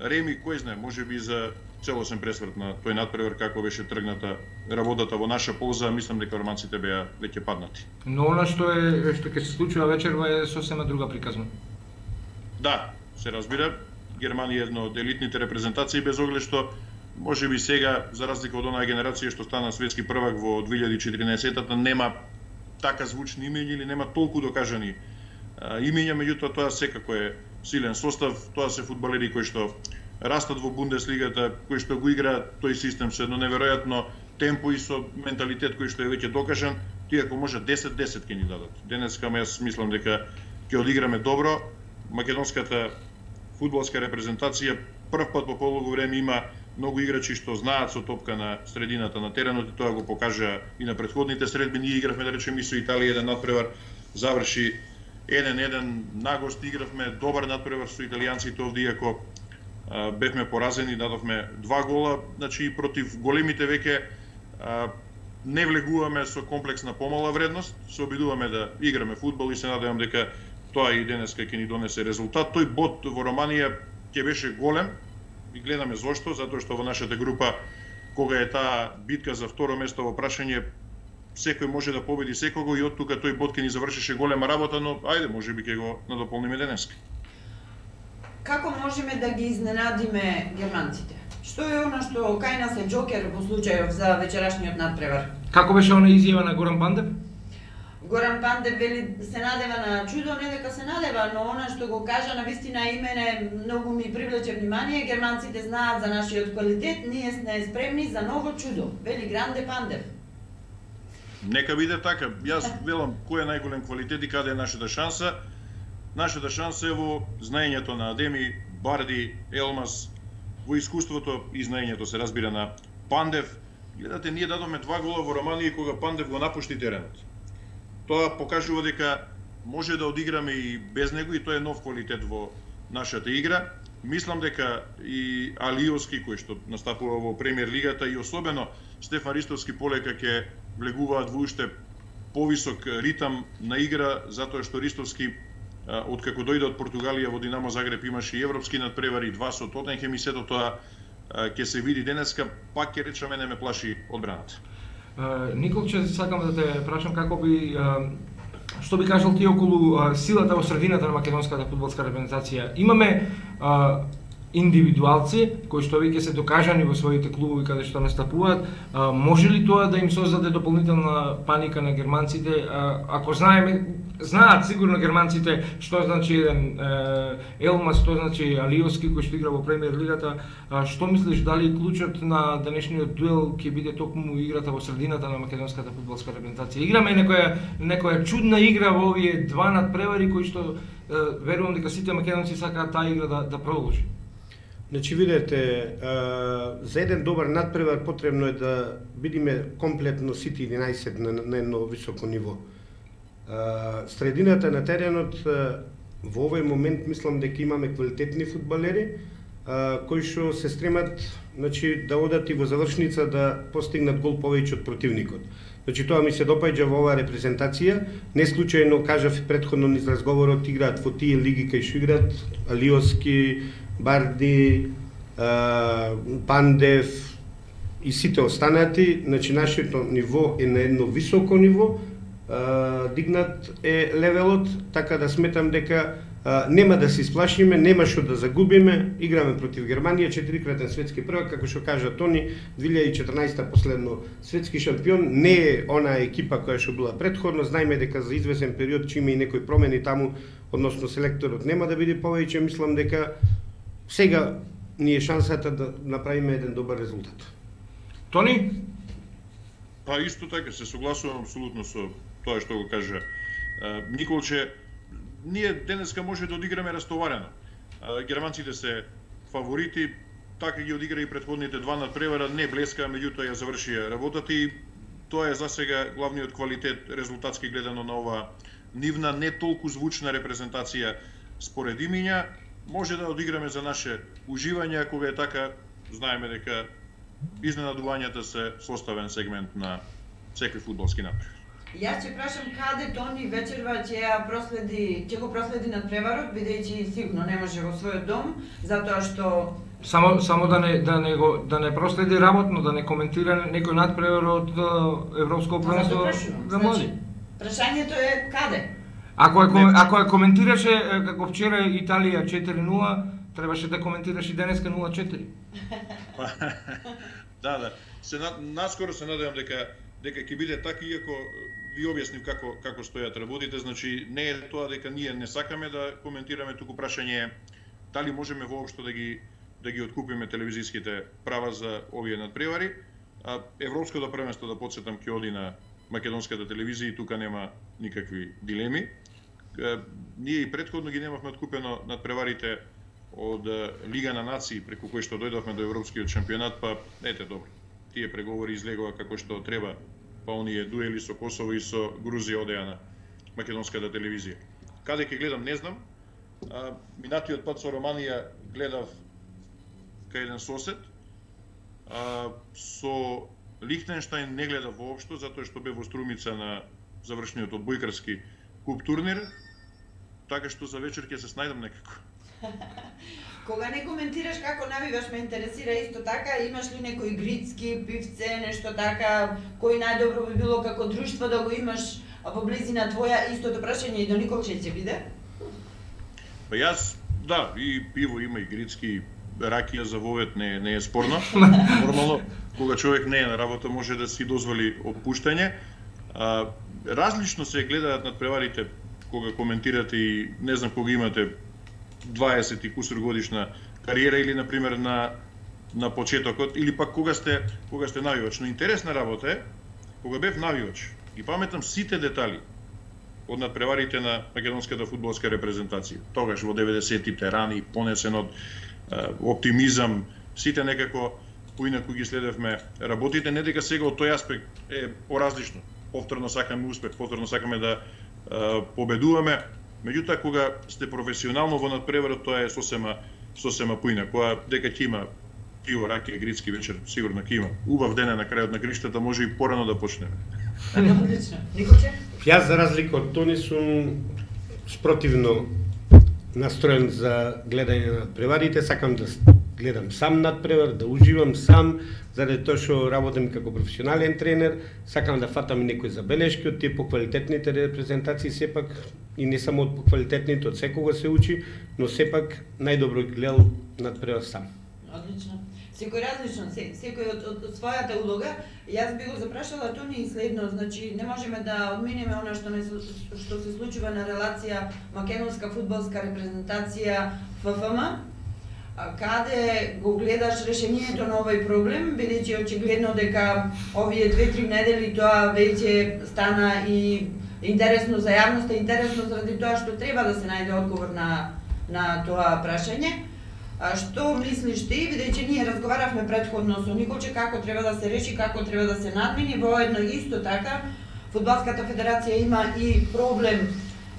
Реми, кој знае, можеби за целосен пресврт на тој надпревар како беше тргната работата во наша полза, мислам дека романците беа веќе паднати. Но она што е што ќе се случува вечерва е сосема друга приказна. Да, се разбира, Германија е една од елитните репрезентации, без оглед што можеби сега, за разлика од онаа генерација што стана светски првак во две илјади и четиринаесеттата, нема така звучни имења или нема толку докажани имења, меѓутоа тоа секако е силен состав, тоа се фудбалери кои што растат во Бундеслигата, кои што го играат тој систем со едно неверојатно темпо и со менталитет кој што е веќе докажан, тие ако може десет десет ќе ни дадат. Денеска јас мислам дека ќе одиграме добро. Македонската фудбалска репрезентација прв пат по полуго време има многу играчи што знаат со топка на средината на теренот и тоа го покажа и на претходните средби. Ние игравме, да речеме, и со Италија еден надпревар, заврши еден еден, нагост игравме добар надпревар со италијанците овде, иако а, бевме поразени, дадовме два гола, значи и против големите веќе а, не влегуваме со комплекс на помала вредност, се обидуваме да играме фудбал и се надевам дека тоа и денеска ќе ни донесе резултат. Тој бод во Романија ќе беше голем и гледаме зошто, затоа што во нашата група, кога е таа битка за второ место во прашање, секој може да победи секого и од тука тој бод ќе ни завршеше голема работа, но ајде, можеби ќе го надополниме денеска. Како можеме да ги изненадиме германците? Што е она што кај нас е џокер во случајов за вечерашниот надпревар? Како беше она изјава на Горан Пандев? Горан Пандев вели се надева на чудо, не дека се надева, но она што го кажа на вистина имене многу ми привлече внимание. Германците знаат за нашиот квалитет, ние сме спремни за ново чудо, вели Гранде Пандев. Нека биде така. Јас велам кој е најголем квалитет и каде е нашата шанса. Нашата шанса е во знаењето на Адеми, Барди, Елмас, во искуството и знаењето, се разбира, на Пандев. Гледате, ние дадовме два гола во Романија кога Пандев го напушти теренот. Тоа покажува дека може да одиграме и без него и тоа е нов квалитет во нашата игра. Мислам дека и Алиовски, кој што настапува во Премиер лигата, и особено Стефан Ристовски полека ќе влегуваат во уште повисок ритам на игра, затоа што Ристовски откако дојде од Португалија во Динамо Загреб имаше и европски надпревари, два со Тотенхем и сето тоа ќе се види денеска, пак ќе речам, мене ме плаши одбраната. Николче, сакам да те прашам како би што би кажал ти околу силата во средината на македонската фудбалска репрезентација. Имаме индивидуалци кои што веќе се докажани во своите клубови каде што настапуваат. Може ли тоа да им создаде дополнителна паника на германците? Ако знаеме, знаат сигурно германците што значи еден Елмас, што значи Алиовски кој што игра во Премиер лигата. Што мислиш, дали клучот на денешниот дуел ќе биде токму играта во средината на македонската фудбалска репрезентација? Играме некоја некоја чудна игра во овие два надпревари кои што верувам дека сите македонци сакаат таа игра да, да продолжи. Значи, видете, за еден добар надпревар потребно е да бидиме комплетно сите единаесет на, на едно високо ниво. Средината на теренот во овој момент мислам дека имаме квалитетни фудбалери кои што се стремат, значи, да одат и во завршница да постигнат гол повеќе од противникот. Значи, тоа ми се допаѓа во оваа репрезентација. Не случајно кажав претходно низ разговорот, играат во тие лиги кај што играат Алиовски, Барди, Пандев и сите останати. Значи, нашето ниво е на едно високо ниво, дигнат е левелот, така да сметам дека нема да се исплашиме, нема што да загубиме. Играме против Германија, четирикратен светски првак, како што кажа Тони, две илјади и четрнаесетта последно светски шампион. Не е онаа екипа која што била претходно. Знаеме дека за извесен период ќе има и некои промени таму, односно селекторот нема да биде повеќе. Мислам дека сега ни е шансата да направиме еден добар резултат. Тони? Па исто така, се согласувам апсолутно со тоа што го кажа Николче. Ние денеска може да одиграме растоварено. Германците се фаворити, така ги одигра и претходните два надпревара, не блеска, меѓутоа ја завршија работата и тоа е за сега главниот квалитет резултатски гледано на ова нивна не толку звучна репрезентација според имиња. Може да одиграме за наше уживање, кога е така, знаеме дека изненадувањата се составен сегмент на секој фудбалски натпревар. Јас ќе прашам каде Тони вечерва ќе ја проследи, ќе го проследи надпреварот, бидејќи сигурно не може во својот дом, затоа што Само само да не да не го да не проследи работно, да не коментира некој надпревар од Европско првенство за млади. Прашањето е каде? Ако е ако е коментираше како вчера Италија четири нула, требаше да коментираш и денеска нула четири. Да, да. Се наскоро се надевам дека дека ќе биде така, иако ви објаснив како како стојат работите, значи не е тоа дека ние не сакаме да коментираме, туку прашање е дали можеме воопшто да ги да ги откупиме телевизиските права за овие надпревари. А Европското првенство, да потсетам, ќе оди на македонската телевизија и тука нема никакви дилеми. Ние и претходно ги немавме откупено надпреварите од Лига на нации, преку кој што дојдовме до Европскиот шампионат, па ете добро. Тие преговори излегува како што треба, па оние дуели со Косово и со Грузија одеа на македонската телевизија. Каде ќе гледам не знам. А, минатиот пат со Романија гледав кај еден сосед. А, со Лихтенштајн не гледав воопшто, затоа што бе во Струмица на завршниот одбојкарски куп турнир, така што за вечер ќе се снајдам некако. Кога не коментираш како навиваш, ме интересира исто така, имаш ли некои грицки пивце, нешто така, кој најдобро би било како друштво да го имаш во близина твоја, истото прашање и до Николче ќе биде? Па јас, да, и пиво има, и грицки, ракија за вовет не, не е спорно. Нормално, кога човек не е на работа, може да си дозволи опуштање. А, различно се гледаат надпреварите кога коментирате и не знам кога имате дваесет и кусур годишна кариера или на пример на на почетокот или пак кога сте кога сте навивач. Но интересна работа е кога бев навивач и паметам сите детали од надпреварите на македонската фудбалска репрезентација. Тогаш во деветдесеттите рани понесен од е, оптимизам, сите некако поинаку ги следевме работите, не дека сега од тој аспект е поразлично. Повторно сакаме успех, повторно сакаме да е, победуваме. Меѓутоа, кога сте професионално во надпреварот, тоа е сосема, сосема поина. Кога дека ќе има пиво, ракија, грицки вечер, сигурно ќе има. Убав ден е на крајот на гриштата, може и порано да почнеме. Одлично. Николче? Јас, за разлика од Тони, сум спротивно настроен за гледање на надпреварите. Сакам да гледам сам надпревар, да уживам сам, заради тоа што работам како професионален тренер, сакам да фатам и некои забелешки од тие поквалитетните репрезентации, сепак и не само од поквалитетните, од секога се учи, но сепак најдобро гледал надпревар сам. Одлично. Секој различно, секој од, од, од својата улога. Јас би го запрашала Тони и следно, значи не можеме да одминеме она што не што се случува на релација македонска фудбалска репрезентација Ф Ф М. Каде го гледаш решението на овој проблем, бидејќи очигледно дека овие две-три недели тоа веќе стана и интересно за јавноста, интересно заради тоа што треба да се најде одговор на на тоа прашање. А што мислиш ти, бидејќи ние разговаравме претходно со Николче како треба да се реши, како треба да се надмини, воедно исто така Фудбалската федерација има и проблем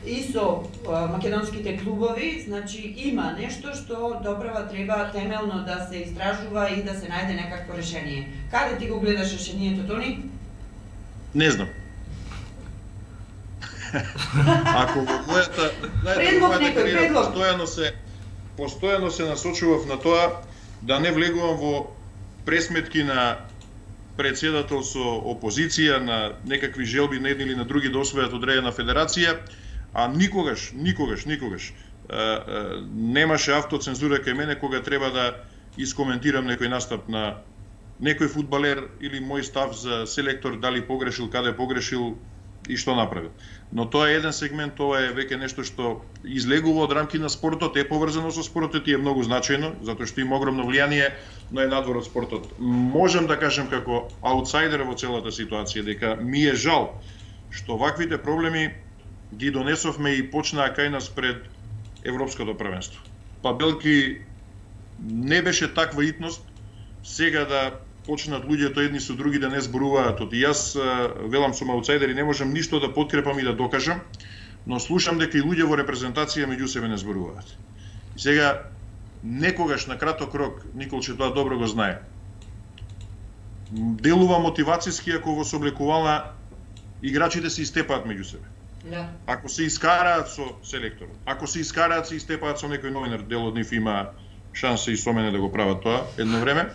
и со а, македонските клубови, значи има нешто што доправа треба темелно да се истражува и да се најде некакво решение. Каде ти го гледаш решението, Тони? Не знам. Ако во мојата, предлог некој, предлог. Постојано се постојано се насочував на тоа да не влегувам во пресметки на председател со опозиција, на некакви желби на едни или на други да освојат одредена федерација, а никогаш, никогаш, никогаш е, е, немаше автоцензура кај мене кога треба да искоментирам некој настап на некој фудбалер или мој став за селектор, дали погрешил, каде погрешил и што направил. Но тоа е еден сегмент, тоа е веќе нешто што излегува од рамки на спортот, е поврзано со спортот и е многу значајно, затоа што има огромно влијание, но е надвор од спортот. Можам да кажем како аутсайдер во целата ситуација дека ми е жал што ваквите проблеми ги донесовме и почнаа кај нас пред Европското првенство. Па белки не беше таква итност сега да почнат луѓето едни со други да не зборуваат. И јас велам сум аутсайдер и не можам ништо да подкрепам и да докажам, но слушам дека и луѓе во репрезентација меѓу себе не зборуваат. И сега некогаш на краток рок, Николче тоа добро го знае, делува мотивацијски ако во сооблекувала играчите се истепаат меѓу себе. Да. Ако се искараат со селекторот, ако се искараат се истепаат со некој новинар, дел од нив има шанса и со мене да го прават тоа едно време.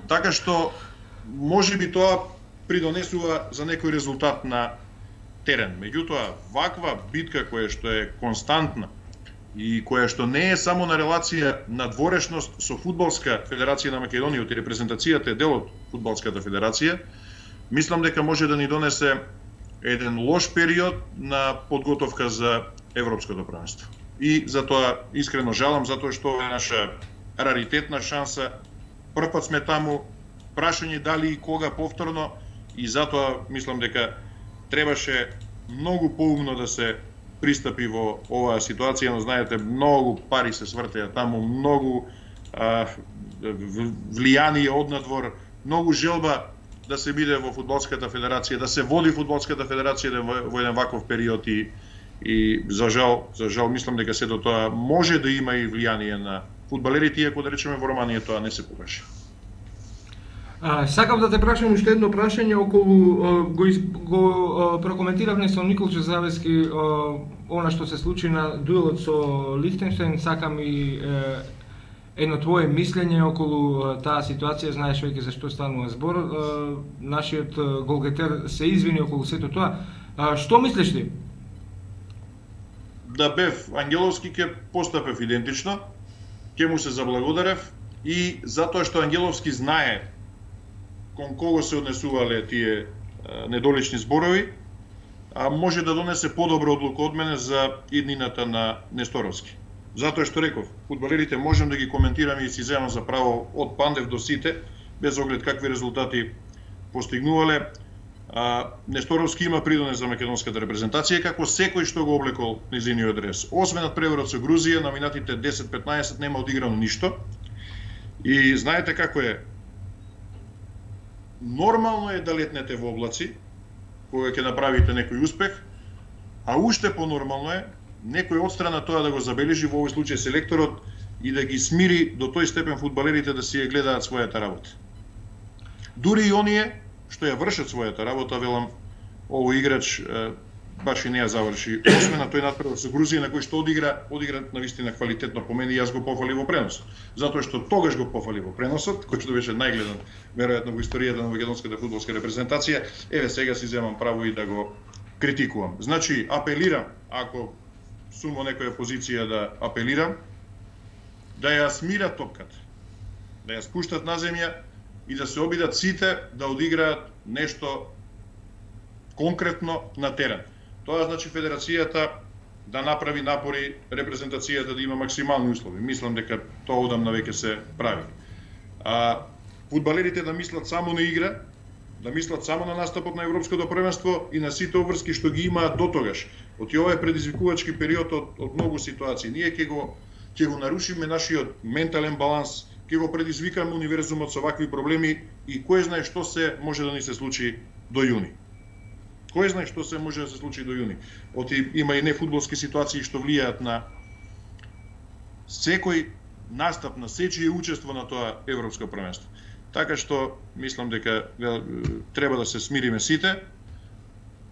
Така што можеби тоа придонесува за некој резултат на терен. Меѓутоа, ваква битка која што е константна и која што не е само на релација на дворешност со Фудбалска федерација на Македонија и репрезентацијата е дел од Фудбалската федерација, мислам дека може да ни донесе еден лош период на подготовка за Европското првенство. И затоа искрено жалам, затоа што е наша раритетна шанса. Прв пат сме таму, прашање дали и кога повторно, и затоа мислам дека требаше многу поумно да се пристапи во оваа ситуација, но знаете, многу пари се свртеа таму, многу а, влијание од надвор, многу желба да се биде во Фудбалската федерација, да се води Фудбалската федерација во, во еден ваков период и, и за жал, за жал мислам дека сето тоа може да има и влијание на фудбалерите, иако да речеме во Романија тоа не се покажа. А, сакав да те прашам уште едно прашање околу а, го, из, го а, прокоментиравме со Николче Здравески а, она што се случи на дуелот со Лихтенштейн. Сакам и е, едно твое мислење околу а, таа ситуација. Знаеш веќе за што станува збор. А, нашиот а, голгетер се извини околу сето тоа. А, што мислиш ти? Да бев Ангеловски ќе постапев идентично, ќе му се заблагодарев и затоа што Ангеловски знае кон кого се однесувале тие а, недолични зборови, а може да донесе подобра одлука од мене за иднината на Несторовски. Затоа што реков, фудбалерите можем да ги коментираме и си земам за право од Пандев до сите, без оглед какви резултати постигнувале. А, Несторовски има придонес за македонската репрезентација, како секој што го облекол низиниот дрес. Освен од преворот со Грузија, на минатите десет-петнаесет нема одиграно ништо. И знаете како е, нормално е да летнете во облаци, кога ќе направите некој успех, а уште понормално е некој од страна тоа да го забележи, во овој случај селекторот, и да ги смири до тој степен фудбалерите да си ја гледаат својата работа. Дури и оние што ја вршат својата работа, велам, овој играч е, баш и не ја заврши, освен на тој надпревар со Грузија, на кој што одигра, одигра навистина квалитетно по мене, и јас го пофали во преносот. Затоа што тогаш го пофали во преносот, кој што беше најгледан веројатно во историјата на македонската фудбалска репрезентација, еве сега си земам право и да го критикувам. Значи, апелирам, ако сум во некоја позиција да апелирам, да ја смират топката, да ја спуштат на земја и да се обидат сите да одиграат нешто конкретно на терен. Тоа значи федерацијата да направи напори, репрезентацијата да има максимални услови. Мислам дека тоа одамна веќе се прави. А, фудбалерите да мислат само на игра, да мислат само на настапот на Европското првенство и на сите обврски што ги имаат дотогаш. Оти ова е предизвикувачки период од, од многу ситуации. Ние ќе го ќе го нарушиме нашиот ментален баланс, ќе го предизвикаме универзумот со вакви проблеми и кој знае што се може да ни се случи до јуни. Кој знае што се може да се случи до јуни. Оти има и нефудбалски ситуации што влијаат на секој настап, на сечие учество на тоа европско првенство. Така што мислам дека треба да се смириме сите.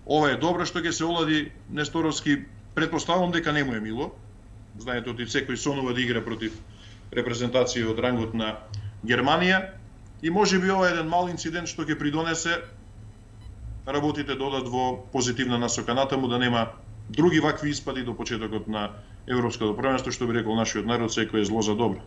Ова е добро што ќе се олади Несторовски, претпоставувам дека не му е мило. Знаете, оти секој сонува да игра против репрезентација од рангот на Германија и можеби ова е еден мал инцидент што ќе придонесе работите да одат во позитивна насока натаму, да нема други вакви испади до почетокот на Европското првенство, што би рекол нашиот народ, секој е зло за добро.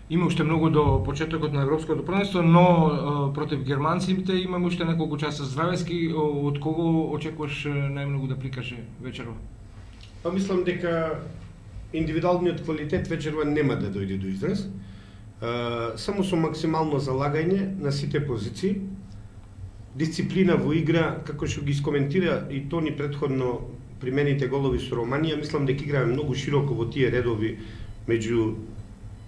Има уште многу до почетокот на Европското првенство, но против германците имаме уште неколку часа. Здравески, од кого очекуваш најмногу да прикаже вечерва? Па мислам дека индивидуалниот квалитет вечерва нема да дојде до израз. Само со максимално залагање на сите позиции, дисциплина во игра, како што ги искоментира и Тони претходно примените голови со Романија, мислам дека играме многу широко во тие редови меѓу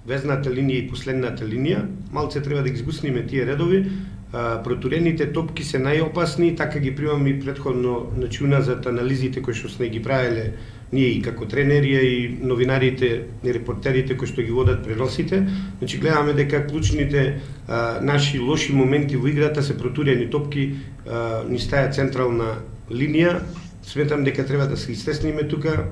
везната линија и последната линија. Малце треба да ги сгусниме тие редови. Протурените топки се најопасни, така ги примам и претходно, значи уназад анализите кои што сме ги правеле ние и како тренери и новинарите и репортерите кои што ги водат преносите, значи гледаме дека клучните а, наши лоши моменти во играта се протурени топки а, ни стаја централна линија. Сметам дека треба да се истесниме тука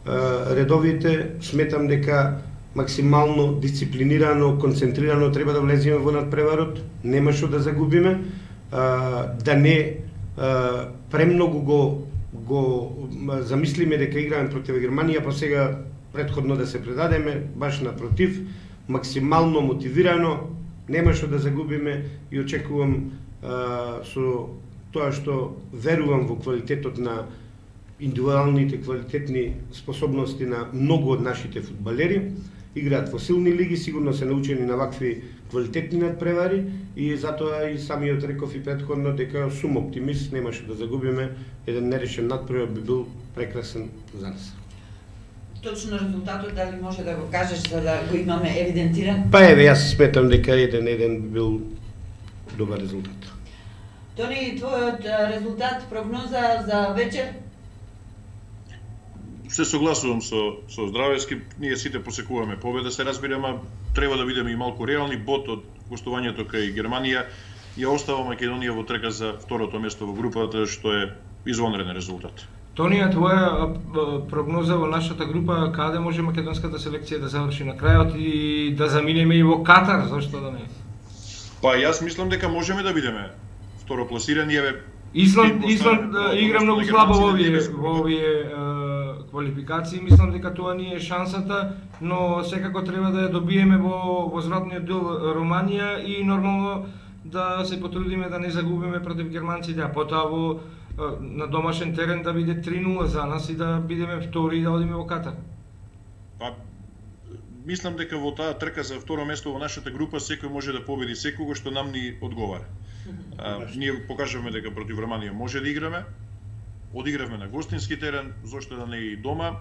а, редовите, сметам дека максимално дисциплинирано, концентрирано треба да влеземе во надпреварот, нема што да загубиме, а, да не а, премногу го го замислиме дека играме против Германија, па сега претходно да се предадеме, баш напротив, максимално мотивирано, нема што да загубиме и очекувам а, со тоа што верувам во квалитетот на индивидуалните квалитетни способности на многу од нашите фудбалери, играат во силни лиги, сигурно се научени на вакви квалитетни надпревари и затоа и самиот реков и претходно дека сум оптимист, нема што да загубиме, еден нерешен надпревар би бил прекрасен за нас. Точно резултатот дали може да го кажеш за да го имаме евидентиран? Па еве, јас сметам дека еден еден би бил добар резултат. Тони, твојот резултат, прогноза за вечер? Се согласувам со со Здравевски, ние сите посекуваме победа, се разбира, ама треба да бидеме и малку реални. Бот од гостувањето кај Германија ја остава Македонија во трка за второто место во групата, што е извонреден резултат. Тонија, твоја прогноза во нашата група, каде може македонската селекција да заврши на крајот и да заминеме и во Катар, зашто да не? Па јас мислам дека можеме да бидеме второпласирани, еве Исланд, Исланд игра многу слабо во овие во овие квалификации, мислам дека тоа ни е шансата, но секако треба да ја добиеме во возвратниот дел Романија и нормално да се потрудиме да не загубиме против германците, а потоа во на домашен терен да биде три нула за нас и да бидеме втори и да одиме во Катар. Па мислам дека во таа трка за второ место во нашата група секој може да победи секого што нам ни одговара. А, ние покажавме дека против Романија може да играме. Одигравме на гостински терен, зошто да не и дома.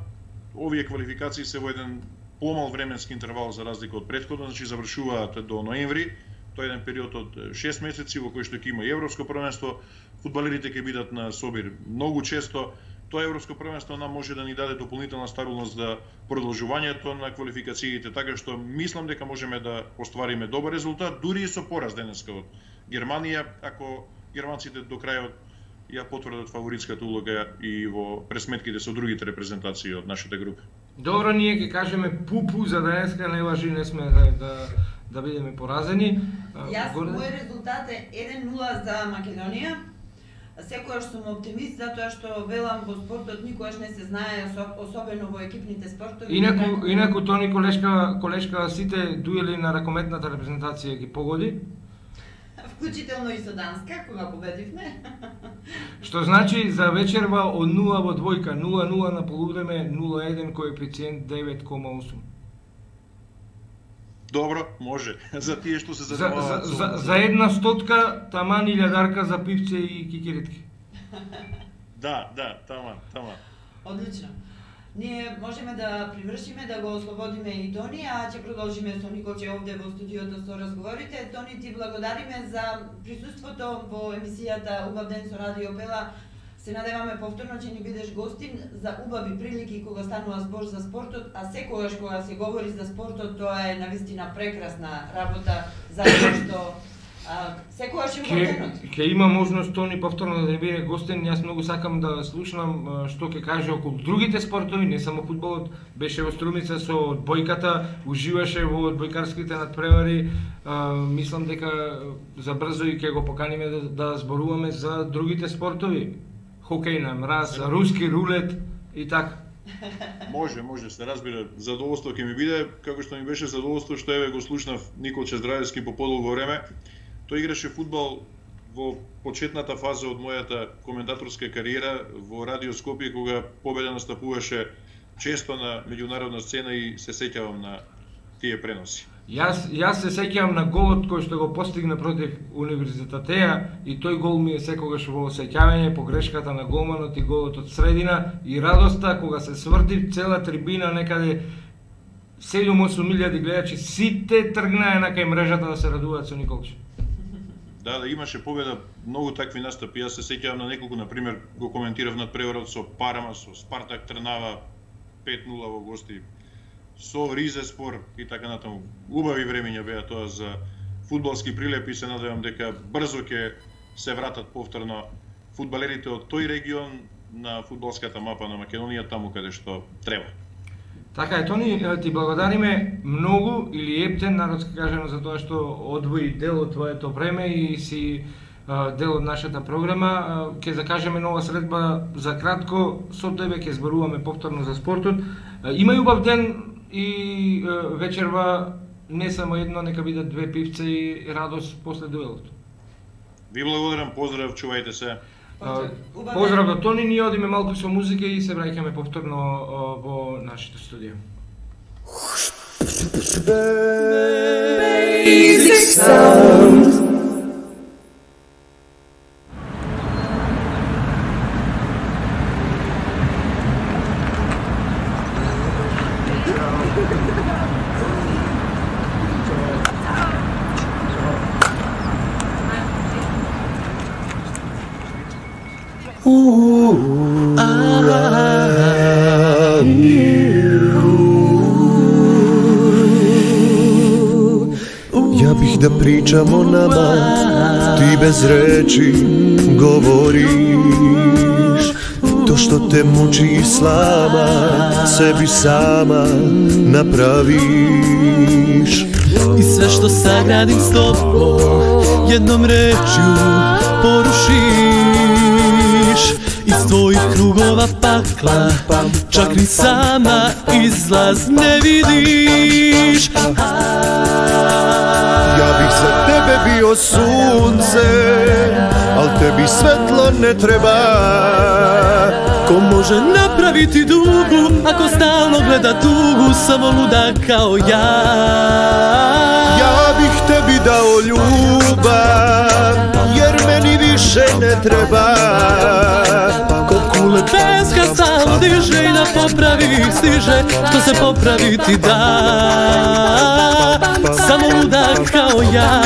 Овие квалификации се во еден помал временски интервал за разлика од претходно, значи завршуваат до ноември. Тоа е еден период од шест месеци во кој што ќе има и европско првенство. Фудбалерите ќе бидат на собир многу често. Тоа европско првенство нам може да ни даде дополнителна стабилност за продолжувањето на квалификациите, така што мислам дека можеме да оствариме добар резултат, дури и со пораз денеска од Германија, ако германците до крајот ја потврдат фаворитската улога и во пресметките со другите репрезентации од нашата група. Добро, ние ќе кажеме пупу за денеска, не важи, не сме да, да, да бидеме поразени. Јас, мој резултат е еден нула за Македонија. Секојаш сум оптимист, затоа што велам во спортот никогаш не се знае, особено во екипните спортови. Инаку, инаку Тони колешка, колешка сите дуели на ракометната репрезентација ги погоди. Вклучително и со Данска, кога победивме. Што значи за вечерва од нула во двојка, нула нула на полувреме, нула еден коефициент девет кома осум. Добро, може. За тие што се За, занимаваат за, за, за една стотка, таман илјадарка за пивце и кикиритки. Да, да, таман, таман. Одлично. Ние можеме да привршиме, да го ослободиме и Тони, а ќе продолжиме со Николче овде во студиото со разговорите. Тони, ти благодариме за присуството во емисијата Убав ден со Радио Пела. Се надеваме повторно ќе ни бидеш гостин за убави прилики кога станува збор за спортот, а секогаш кога се говори за спортот, тоа е навистина прекрасна работа, затоа што а, секогаш е убавденот. Ке има можност Тони повторно да биде гостин, јас многу сакам да слушнам што ќе каже околу другите спортови, не само фудбалот. Беше во Струмица со одбојката, уживаше во одбојкарските надпревари. А, мислам дека за брзо и ќе го поканиме да, да зборуваме за другите спортови. Хокеј на мраз, руски рулет и така. Може, може, се разбира. Задоволство ќе ми биде, како што ми беше задоволство што еве го слушнав Николче Здравевски по подолго време. Тој играше фудбал во почетната фаза од мојата коментаторска кариера во Радио Скопје, кога победа настапуваше често на меѓународна сцена и се сеќавам на тие преноси. Јас, јас се сеќавам на голот кој што го постигна против Универзитетеја и тој гол ми е секогаш во сеќавање, погрешката на голманот и голот од средина и радоста кога се сврти цела трибина некаде седум осум илјади гледачи, сите тргнаа на кај мрежата да се радуваат со Николче. Да, да, имаше победа, многу такви настапи. Јас се сеќавам на неколку, на пример, го коментирав над преварот со Парма, со Спартак Трнава пет нула во гости, со Ризеспор и така натаму. Убави времења беа тоа за фудбалски прилепи, се надевам дека брзо ќе се вратат повторно фудбалерите од тој регион на фудбалската мапа на Македонија, таму каде што треба. Така е, Тони, ти благодариме многу или ептен, народски кажено, за тоа што одвои дел од твоето време и си дел од нашата програма. Ќе закажеме нова средба за кратко, со тебе ќе зборуваме повторно за спортот. Има убав ден и вечерва не само едно, нека бидат две пивца и радост после дуелот. Ви благодарам, поздрав, чувајте се. Поздрав до Тони, ние одиме малку со музика и се враќаме повторно во нашето студио. Basic sound. Ja bih da pričam o nama, ti bez reči govoriš. To što te muči i slama, sebi sama napraviš. I sve što sagradim s tobom, jednom rečju porušiš. Iz tvojih krugova pakla, čak ni sama izlaz ne vidiš. Ja bih za tebe bio sunce, al tebi svetlo ne treba. Ko može napraviti dugu, ako stalno gleda tugu, samo luda kao ja. Ja bih tebi dao ljubav, jer meni više ne treba. Ko kule peska stalno diže i na popravi stiže, što se popraviti da. Samo luda kao ja.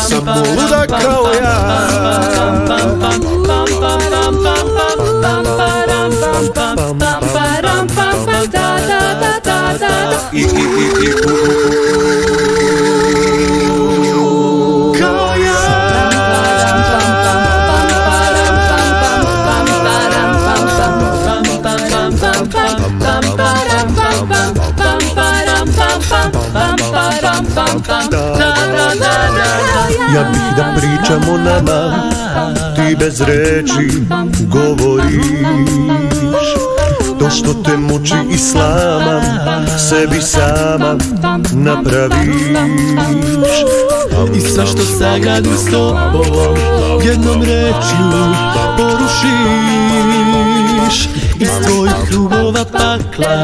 Samo luda kao ja. I, i, i, i, u, u, kao ja. Ja bih da pričam o nama, ti bez reči govoriš. To što te muči i slama, sebi sama napraviš. I sve što sagradim s tobom, jednom rečju porušiš. Iz tvojih krugova pakla,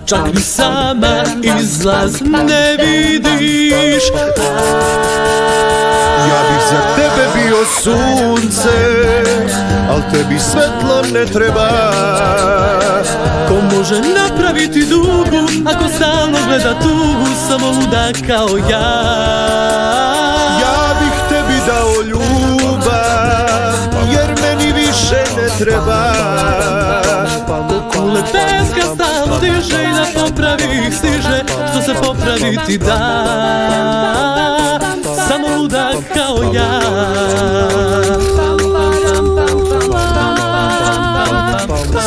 čak ni sama izlaz ne vidiš. Ja bih za tebe bio sunce, al tebi svetlo ne treba. Ko može napraviti dugu, ako stalno gleda tugu, samo luda kao ja. Ja bih tebi dao ljubav, jer meni više ne treba. Ko kule peska stalno diže i na popravi ih stiže, što se popraviti da. Samo luda kao ja.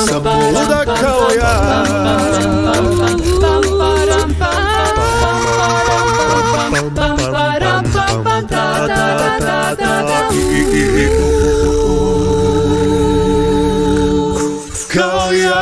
Samo luda kao ja. Kao ja.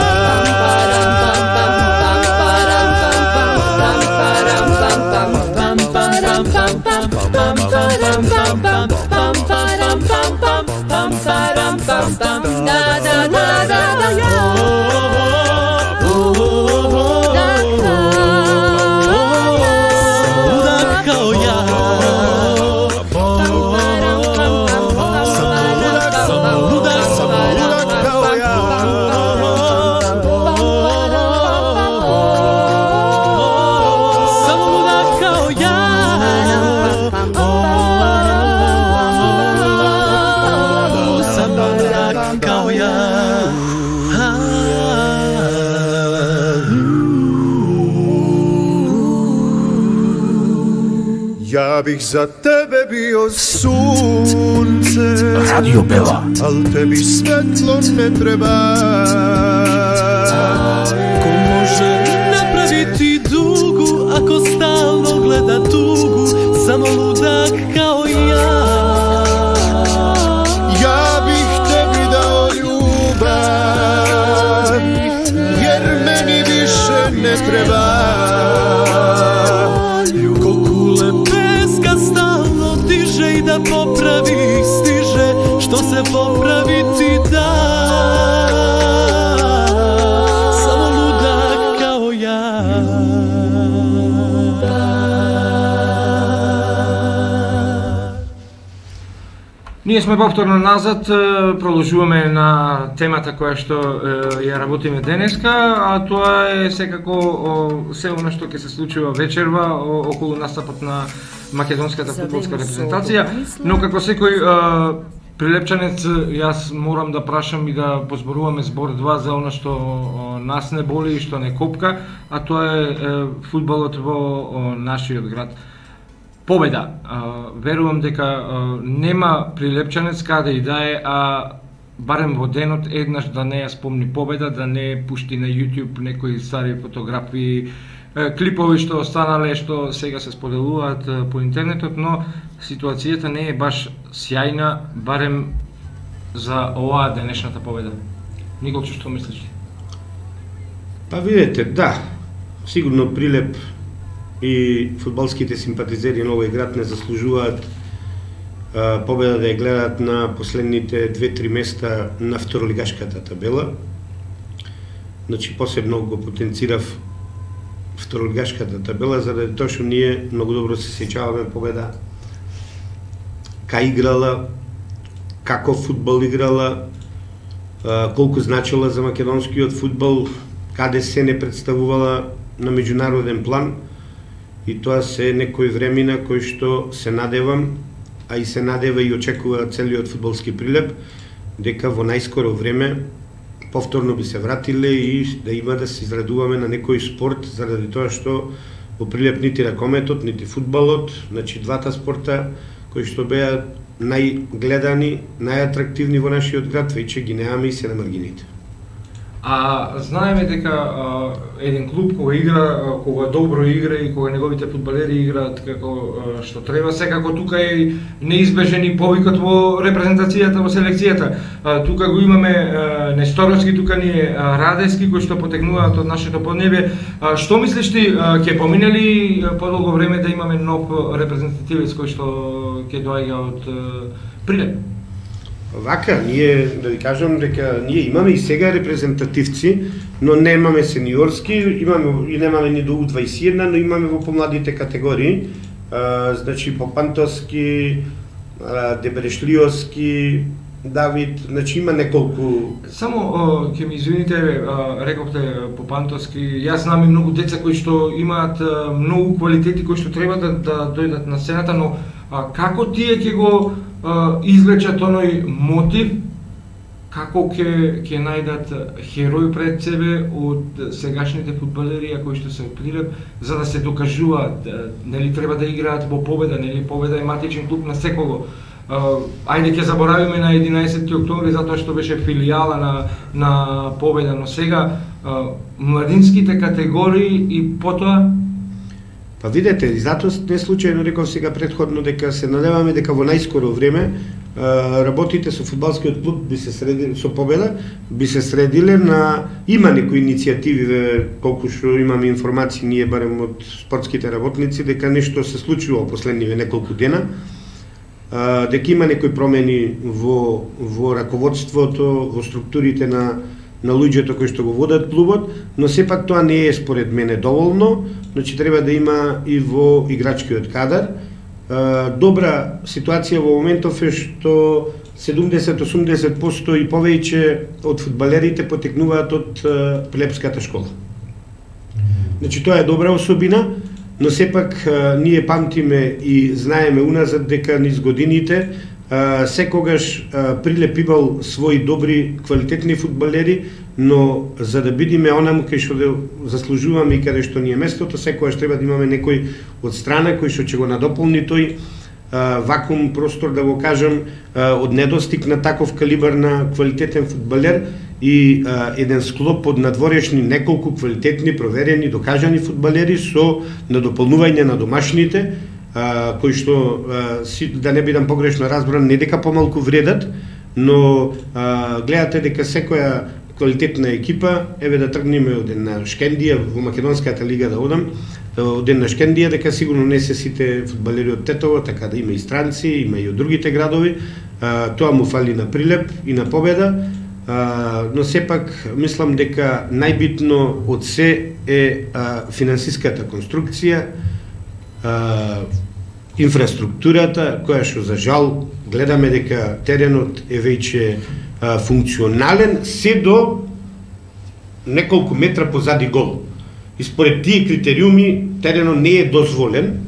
Samo Ja bih za tebe bio sunce, Radio Bela, al tebi svetlo ne treba. Ko može napraviti dugu ako stalno gleda tugu, samo ludak kao ja. Ja bih tebi dao ljubav, jer meni više ne treba. Ko kule peska stalno diže i da popravi stiže, što se popraviti da. Samo ludak kao ja. Ние сме повторно назад, продолжуваме на темата која што ја работиме денеска, а тоа е секако се она што ќе се случува вечерва околу настапот на македонската фудбалска репрезентација, но како секој прилепчанец јас морам да прашам и да позборуваме збор два за она што нас не боли и што не копка, а тоа е фудбалот во нашиот град. Победа. Верувам дека нема прилепчанец каде и да е, а барем во денот еднаш да не ја спомни победа, да не пушти на YouTube некои стари фотографии, клипови што останале, што сега се споделуваат по интернетот, но ситуацијата не е баш сјајна, барем за оваа денешната победа. Николче, што мислиш? Па видете, да, сигурно Прилеп и фудбалските симпатизери на овој град не заслужуваат а, победа да ја гледат на последните две-три места на второлигашката табела. Значи, посебно го потенцирав второлигашката табела, заради тоа што ние многу добро се сеќаваме победа кај играла, како фудбал играла, а, колку значила за македонскиот фудбал, каде се не представувала на меѓународен план. И тоа се некои времена кои што се надевам, а и се надева и очекува целиот фудбалски Прилеп, дека во најскоро време повторно би се вратиле и да има да се израдуваме на некој спорт, заради тоа што во Прилеп нити ракометот, нити фудбалот, значи двата спорта кои што беа најгледани, најатрактивни во нашиот град, веќе ги немаме и се на маргините. А знаеме дека а, еден клуб кога игра, а, кога добро игра и кога неговите фудбалери играат како а, што треба, секако тука е неизбежен и повикот во репрезентацијата, во селекцијата. А, тука го имаме а, Несторовски, тука ни е а, Радевски, кои што потекнуваат од нашето поднебе. А, што мислиш ти, а, ќе помине ли подолго време да имаме нов репрезентативец кој што ќе доаѓа од а, Прилеп? Вака, ние, да ви кажам дека ние имаме и сега репрезентативци, но немаме сениорски, имаме и немаме ни до У дваесет и една, но имаме во помладите категории, а, значи Попантовски, а, Дебрешлиовски, Давид, значи има неколку. Само ќе ми извините, рековте Попантовски, јас знам и многу деца кои што имаат многу квалитети кои што треба да, да дојдат на сцената, но а, како тие ќе го а, извлечат оној мотив, како ќе ќе најдат херој пред себе од сегашните фудбалери кои што се Прилеп, за да се докажуваат, нели треба да играат во Победа, нели Победа е матичен клуб на секого. Uh, ајде ќе заборавиме на единаесетти октомври затоа што беше филијала на на Победа, но сега uh, младинските категории и потоа. Па видете, и затоа не случајно реков сега претходно дека се надеваме дека во најскоро време uh, работите со фудбалскиот клуб би се средили со Победа, би се средиле на има некои иницијативи, колку што имаме информации ние барем од спортските работници дека нешто се случува последниве неколку дена. Uh, дека има некои промени во, во раководството, во структурите на, на луѓето кои што го водат клубот, но сепак тоа не е според мене доволно, значи треба да има и во играчкиот кадар. Uh, добра ситуација во моментов е што седумдесет до осумдесет проценти и повеќе од фудбалерите потекнуваат од uh, Прилепската школа. Значи тоа е добра особина, но сепак ние памтиме и знаеме уназад дека низ годините секогаш Прилеп имал своји добри, квалитетни фудбалери, но за да бидеме онаму кај што да заслужуваме и каде што ни е местото, секогаш треба да имаме некој од страна кој што ќе го надополни тој а, вакуум простор, да го кажам, а, од недостиг на таков калибар на квалитетен фудбалер и а, еден склоп од надворешни неколку квалитетни, проверени, докажани фудбалери со надополнување на домашните, а, кои што, а, си, да не бидам погрешно разбран, не дека помалку вредат, но а, гледате дека секоја квалитетна екипа, еве да тргнеме од една Шкендија, во Македонската лига да одам, од една Шкендија, дека сигурно не се сите фудбалери од Тетово, така да има и странци, има и од другите градови, а, тоа му фали на прилеп и на победа, а, но сепак мислам дека најбитно од се е а, финансиската конструкција, а, инфраструктурата, која што за жал гледаме дека теренот е веќе а, функционален се до неколку метра позади гол. И според тие критериуми теренот не е дозволен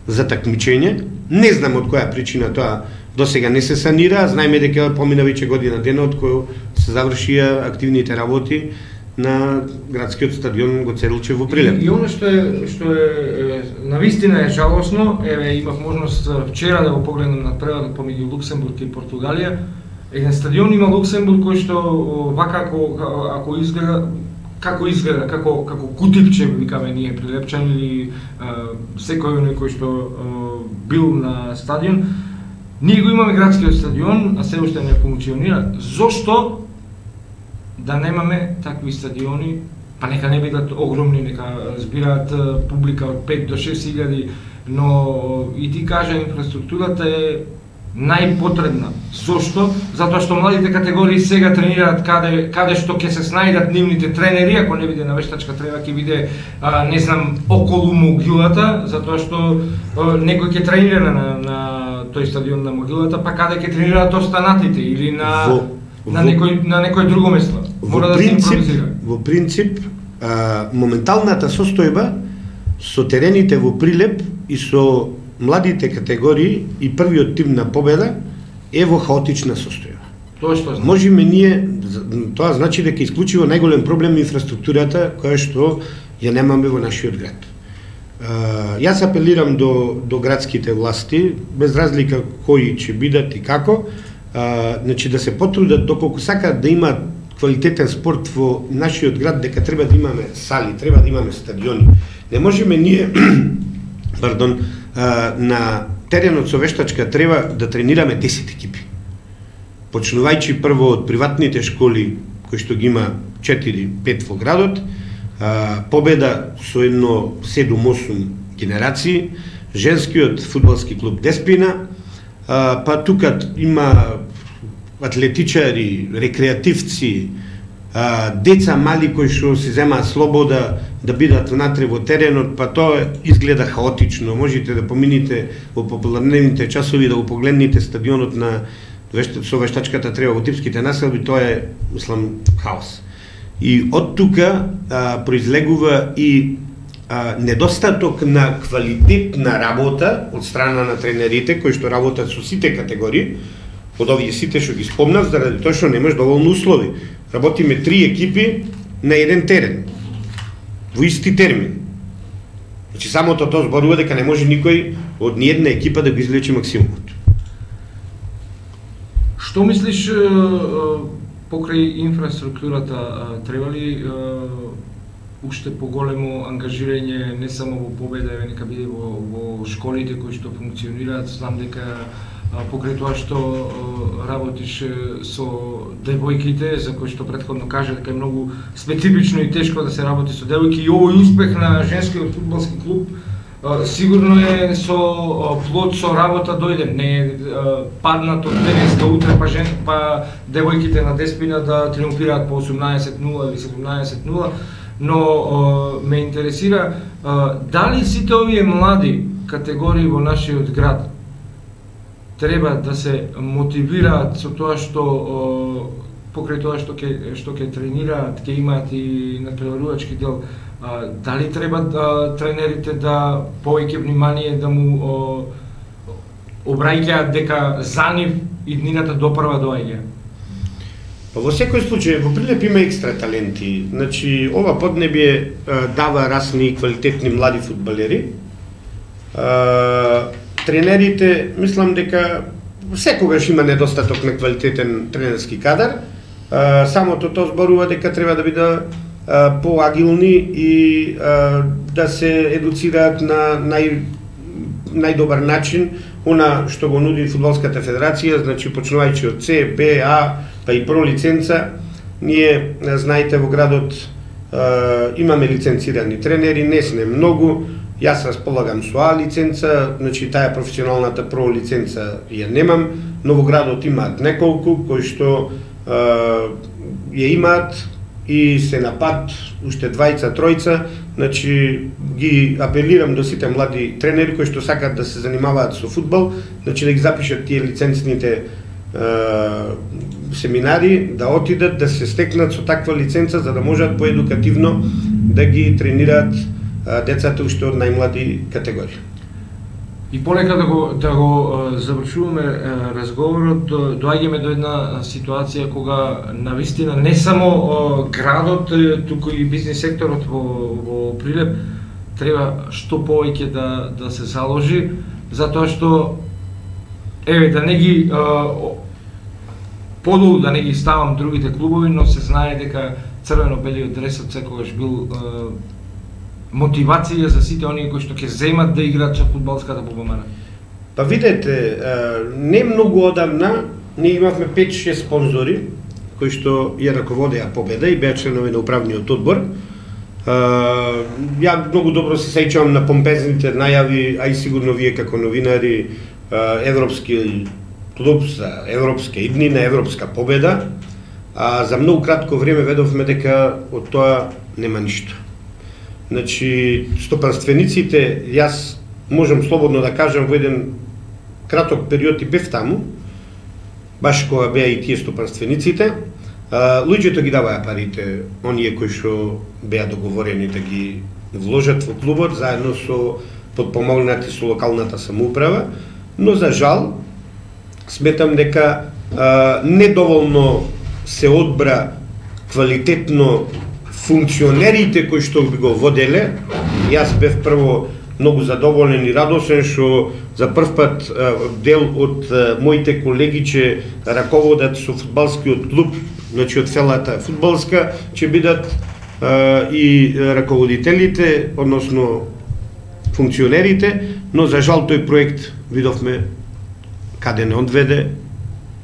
за такмичење. Не знам од која причина тоа досега не се санира, знаеме дека помина веќе година дена од кој се завршија активните работи на градскиот стадион Гоце Делчев во Прилеп. И, и оно што е што е навистина е жалосно, еве имав можност вчера да го погледнам на преводот помеѓу Луксембург и Португалија. Еден стадион има Луксембург кој што вака ако ако изгледа како изгледа, како како кутипче викаме ние прилепчани или а, секој некој што а, бил на стадион. Ние го имаме градскиот стадион, а се уште не функционира. Зошто да немаме такви стадиони, па нека не бидат огромни, нека збираат публика од пет до шест илјади, но и ти кажа инфраструктурата е најпотребна. Зошто? Затоа што младите категории сега тренираат каде каде што ќе се снајдат нивните тренери, ако не биде на вештачка треба ќе биде а, не знам околу могилата, затоа што а, некој ќе тренира на, на тој стадион на могилата, па каде ќе тренираат останатите или на во, на во, некој на некој друго место. Мора да се импровизира. Во принцип, а, моменталната состојба со терените во Прилеп и со младите категории и првиот тим на победа е во хаотична состојба. Тоа што значи? Можеме ние, тоа значи дека исклучиво најголем проблем инфраструктурата која што ја немаме во нашиот град. Uh, јас апелирам до, до градските власти, без разлика кои ќе бидат и како, uh, значи да се потрудат доколку сакаат да има квалитетен спорт во нашиот град, дека треба да имаме сали, треба да имаме стадиони. Не можеме ние, пардон, uh, на теренот со вештачка треба да тренираме десет екипи. Почнувајќи прво од приватните школи, кои што ги има четири пет во градот, Uh, победа со едно седум-осум генерации, женскиот фудбалски клуб Деспина, uh, па тука има атлетичари, рекреативци, uh, деца мали кои што се земаат слобода да бидат внатре во теренот, па тоа изгледа хаотично. Можете да помините во попладневните часови да го погледнете стадионот на со вештачката треба во типските населби, тоа е, мислам, хаос. И од тука а, произлегува и а, недостаток на квалитетна работа од страна на тренерите кои што работат со сите категории, од овие сите што ги спомнав, заради тоа што немаш доволно услови. Работиме три екипи на еден терен, во исти термин. Значи самото тоа зборува дека не може никој од ни една екипа да го извлече максимумот. Што мислиш покрај инфраструктурата, треба ли уште поголемо ангажирање не само во победа, еве нека биде во, во школите кои што функционираат? Знам дека покрај тоа што работиш со девојките, за кои што претходно кажа дека е многу специфично и тешко да се работи со девојки, и овој успех на женскиот фудбалски клуб сигурно е со плод со работа дојден, не е паднат од денеска утре па жен па девојките на Деспина да триумфираат по осумнаесет нула или седумнаесет нула, но ме интересира дали сите овие млади категории во нашиот град треба да се мотивираат со тоа што покрај тоа што ќе што ќе тренираат, ќе имаат и натпреварувачки дел. А, дали треба да, тренерите да повеќе внимание да му о, обраќаат дека за нив иднината допрва доаѓа? Во секој случај, во Прилеп има екстра таленти. Значи, ова поднебие дава расни и квалитетни млади фудбалери. Тренерите, мислам дека секогаш има недостаток на квалитетен тренерски кадар. Самото тоа зборува дека треба да биде поагилни и да се едуцираат на нај најдобар начин она што го нуди Фудбалската федерација, значи почнувајќи од С, Б, А, па и Про лиценца. Ние, знаете, во градот имаме лиценцирани тренери, не сме многу. Јас располагам со А лиценца, значи таа професионалната Про лиценца ја немам, но во градот имаат неколку кои што ја имаат и се на пат, уште двајца, тројца, значи ги апелирам до сите млади тренери кои што сакат да се занимаваат со фудбал, значи да ги запишат тие лиценцните е, семинари, да отидат, да се стекнат со таква лиценца, за да можат поедукативно да ги тренираат е, децата уште од најмлади категории. И полека да го, да го завршуваме разговорот, доаѓаме до една ситуација кога навистина не само градот, туку и бизнес секторот во, во Прилеп треба што повеќе да, да се заложи, затоа што еве да не ги подолу да не ги ставам другите клубови, но се знае дека црвено-белиот дресот секогаш бил мотивација за сите оние кои што ќе земат да играат со фудбалската ББМН? Па видете, не многу одамна ние имавме пет-шест спонзори кои што ја раководеа Победа и беа членови на управниот одбор. Ја многу добро се сеќавам на помпезните најави, а и сигурно вие како новинари, европски клуб за европска идни на европска победа, а за многу кратко време ведовме дека од тоа нема ништо. Значи, стопанствениците, јас можам слободно да кажам, во еден краток период и бев таму, баш кога беа и тие стопанствениците, луѓето ги даваја парите, оние кои што беа договорени да ги вложат во клубот, заедно со подпомогнати со локалната самоуправа, но за жал, сметам дека а, недоволно се одбра квалитетно функционерите кои што би го воделе. Јас бев прво многу задоволен и радосен што за прв пат а, дел од а, моите колеги че раководат со фудбалскиот клуб, значи од целата фудбалска, ќе бидат а, и раководителите, односно функционерите, но за жал тој проект видовме каде не одведе.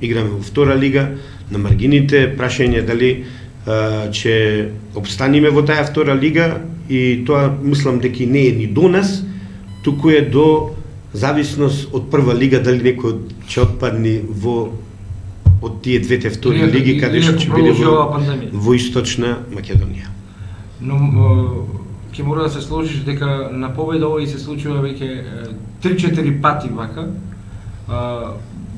Играме во втора лига, на маргините, прашање дали ќе обстаниме во таа втора лига, и тоа мислам дека не е ни до нас, туку е до зависност од прва лига, дали некој ќе отпадне во од тие двете втори лиги, каде што ќе биде во, во Источна Македонија. Но ќе мора да се сложиш дека на Победа овој се случува веќе три-четири пати вака.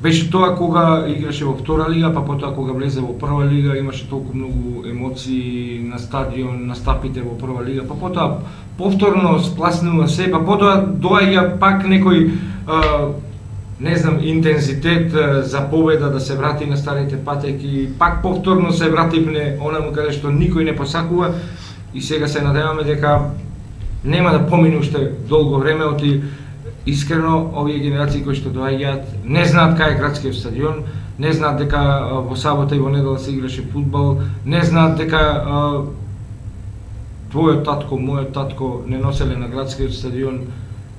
Беше тоа кога играше во втора лига, па потоа кога влезе во прва лига, имаше толку многу емоции на стадион, настапите во прва лига, па потоа повторно спласнува се, па потоа доаѓа пак некој а, не знам, интензитет а, за Победа да се врати на старите патеки, пак повторно се вративне онаму каде што никој не посакува, и сега се надеваме дека нема да помине уште долго време, оти искрено овие генерации кои што доаѓаат не знаат кај е градскиот стадион, не знаат дека во сабота и во недела се играше фудбал, не знаат дека а, твојот татко, мојот татко не носеле на градскиот стадион,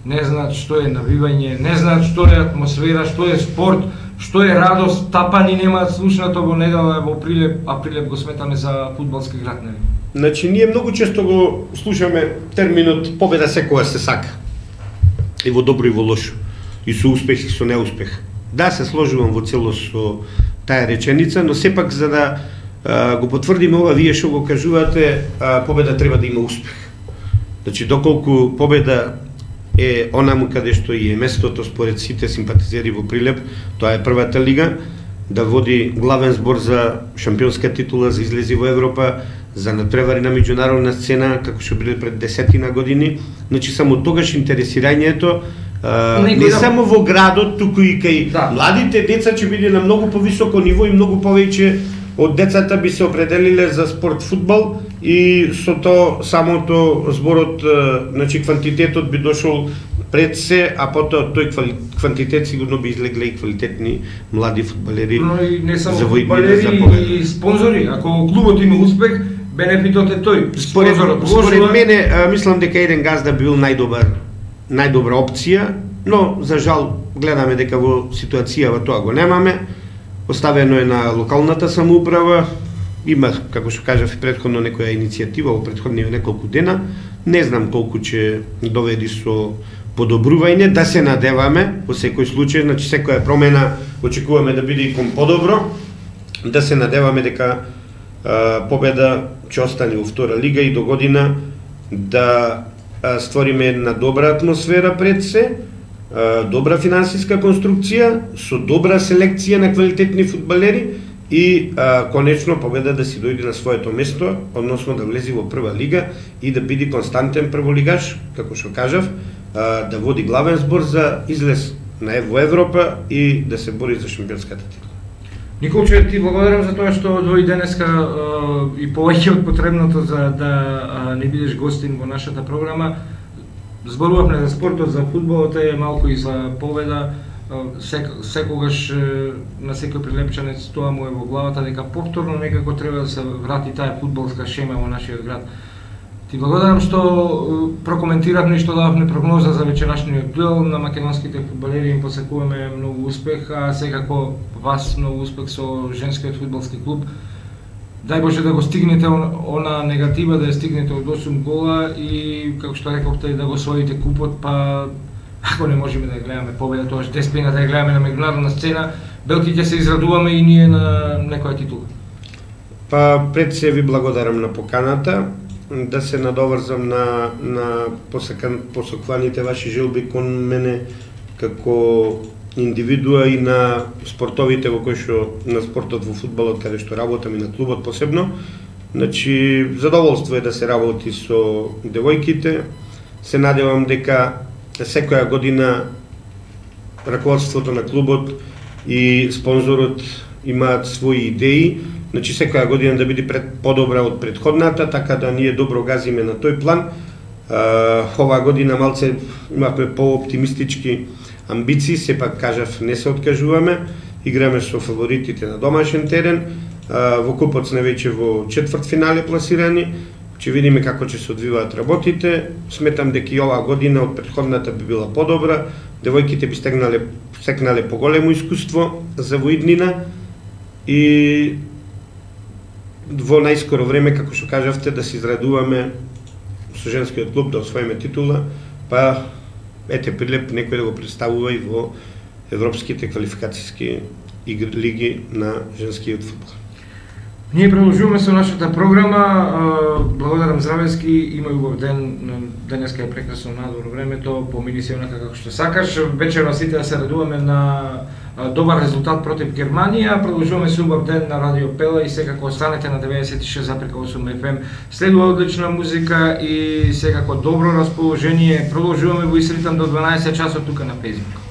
не знаат што е навивање, не знаат што е атмосфера, што е спорт, што е радост, тапани немаат слушнато во недела во Прилеп, а Прилеп го сметаме за фудбалски град, нели? Значи, ние многу често го слушаме терминот победа секогаш се сака. И во добро и во лошо, и со успех и со неуспех. Да, се сложувам во целост со таа реченица, но сепак за да а, го потврдиме ова, вие што го кажувате, а, победа треба да има успех. Значи, доколку победа е онаму каде што и е местото според сите симпатизери во Прилеп, тоа е првата лига, да води главен збор за шампионска титула, за излези во Европа, за надпревари на меѓународна сцена, како што биле пред десетина години. Значи, само тогаш интересирањето а, не да... само во градот, туку и кај да. Младите деца ќе биде на многу повисоко ниво и многу повеќе од децата би се определиле за спорт фудбал и со тоа самото зборот, значи квантитетот би дошол пред се, а потоа тој квантитет сигурно би излегле и квалитетни млади фудбалери. Но и не само за фудбалери и спонзори. Ако клубот има успех, бенефитот е тој. Според, според мене, а, мислам дека еден газда бил најдобар, најдобра опција, но за жал гледаме дека во ситуацијава тоа го немаме. Оставено е на локалната самоуправа. Има, како што кажав, претходно некоја иницијатива во претходни неколку дена. Не знам колку ќе доведи со подобрување, да се надеваме во секој случај, значи секоја промена очекуваме да биде и кон подобро, да се надеваме дека а, победа ќе остане во втора лига и до година да а, створиме една добра атмосфера пред се, а, добра финансиска конструкција, со добра селекција на квалитетни фудбалери и а, конечно победа да си дојде на своето место, односно да влезе во прва лига и да биде константен прволигаш, како што кажав, а, да води главен збор за излез на во Европа и да се бори за шампионската титла. Николче, ти благодарам за тоа што дојде денеска а, и повеќе од потребното за да а, не бидеш гостин во нашата програма. Зборувавме за спортот, за фудбалот, е малку и за победа. Сек, секогаш на секој прилепчанец тоа му е во главата дека повторно некако треба да се врати таа фудбалска шема во нашиот град. Ти благодарам што прокоментиравме и што дававме прогноза за вечерашниот дуел. На македонските фудбалери им посекуваме многу успех, а секако вас многу успех со женскиот фудбалски клуб. Дај Боже да го стигнете она негатива, да ја стигнете од осум гола и, како што рековте, да го освоите купот, па ако не можеме да ја гледаме победа, тоа што деспина да ја гледаме на меѓународна сцена, белки ќе се израдуваме и ние на некоја титула. Па пред се ви благодарам на поканата, да се надоврзам на на посакан, посокваните ваши желби кон мене како индивидуа и на спортовите во кои што на спортот во фудбалот каде што работам и на клубот посебно. Значи задоволство е да се работи со девојките. Се надевам дека секоја година раководството на клубот и спонзорот имаат своји идеи, значи секоја година да биде пред подобра од претходната, така да ние добро газиме на тој план. А, оваа година малце имавме по-оптимистички амбиции, сепак кажав не се откажуваме, играме со фаворитите на домашен терен, а, во купот сме веќе во четврт финале пласирани. Ќе видиме како ќе се одвиваат работите. Сметам дека и оваа година од претходната би била подобра. Девојките би стегнале, стекнале поголемо искуство за воиднина и во најскоро време, како што кажавте, да се израдуваме со женскиот клуб, да освоиме титула, па ете прилеп некој да го представува и во европските квалификацијски лиги на женскиот фудбал. Ние продолжуваме со нашата програма. Благодарам Здравески, има убав ден, денеска е прекрасно надвор времето, помини се онака како што сакаш. Вечерва сите да се радуваме на добар резултат против Германија. Продолжуваме со убав ден на Радио Пела и секако останете на деветдесет и шест запирка осум еф ем. Следува одлична музика и секако добро расположение. Продолжуваме во Исритам до дванаесет часот тука на Facebook.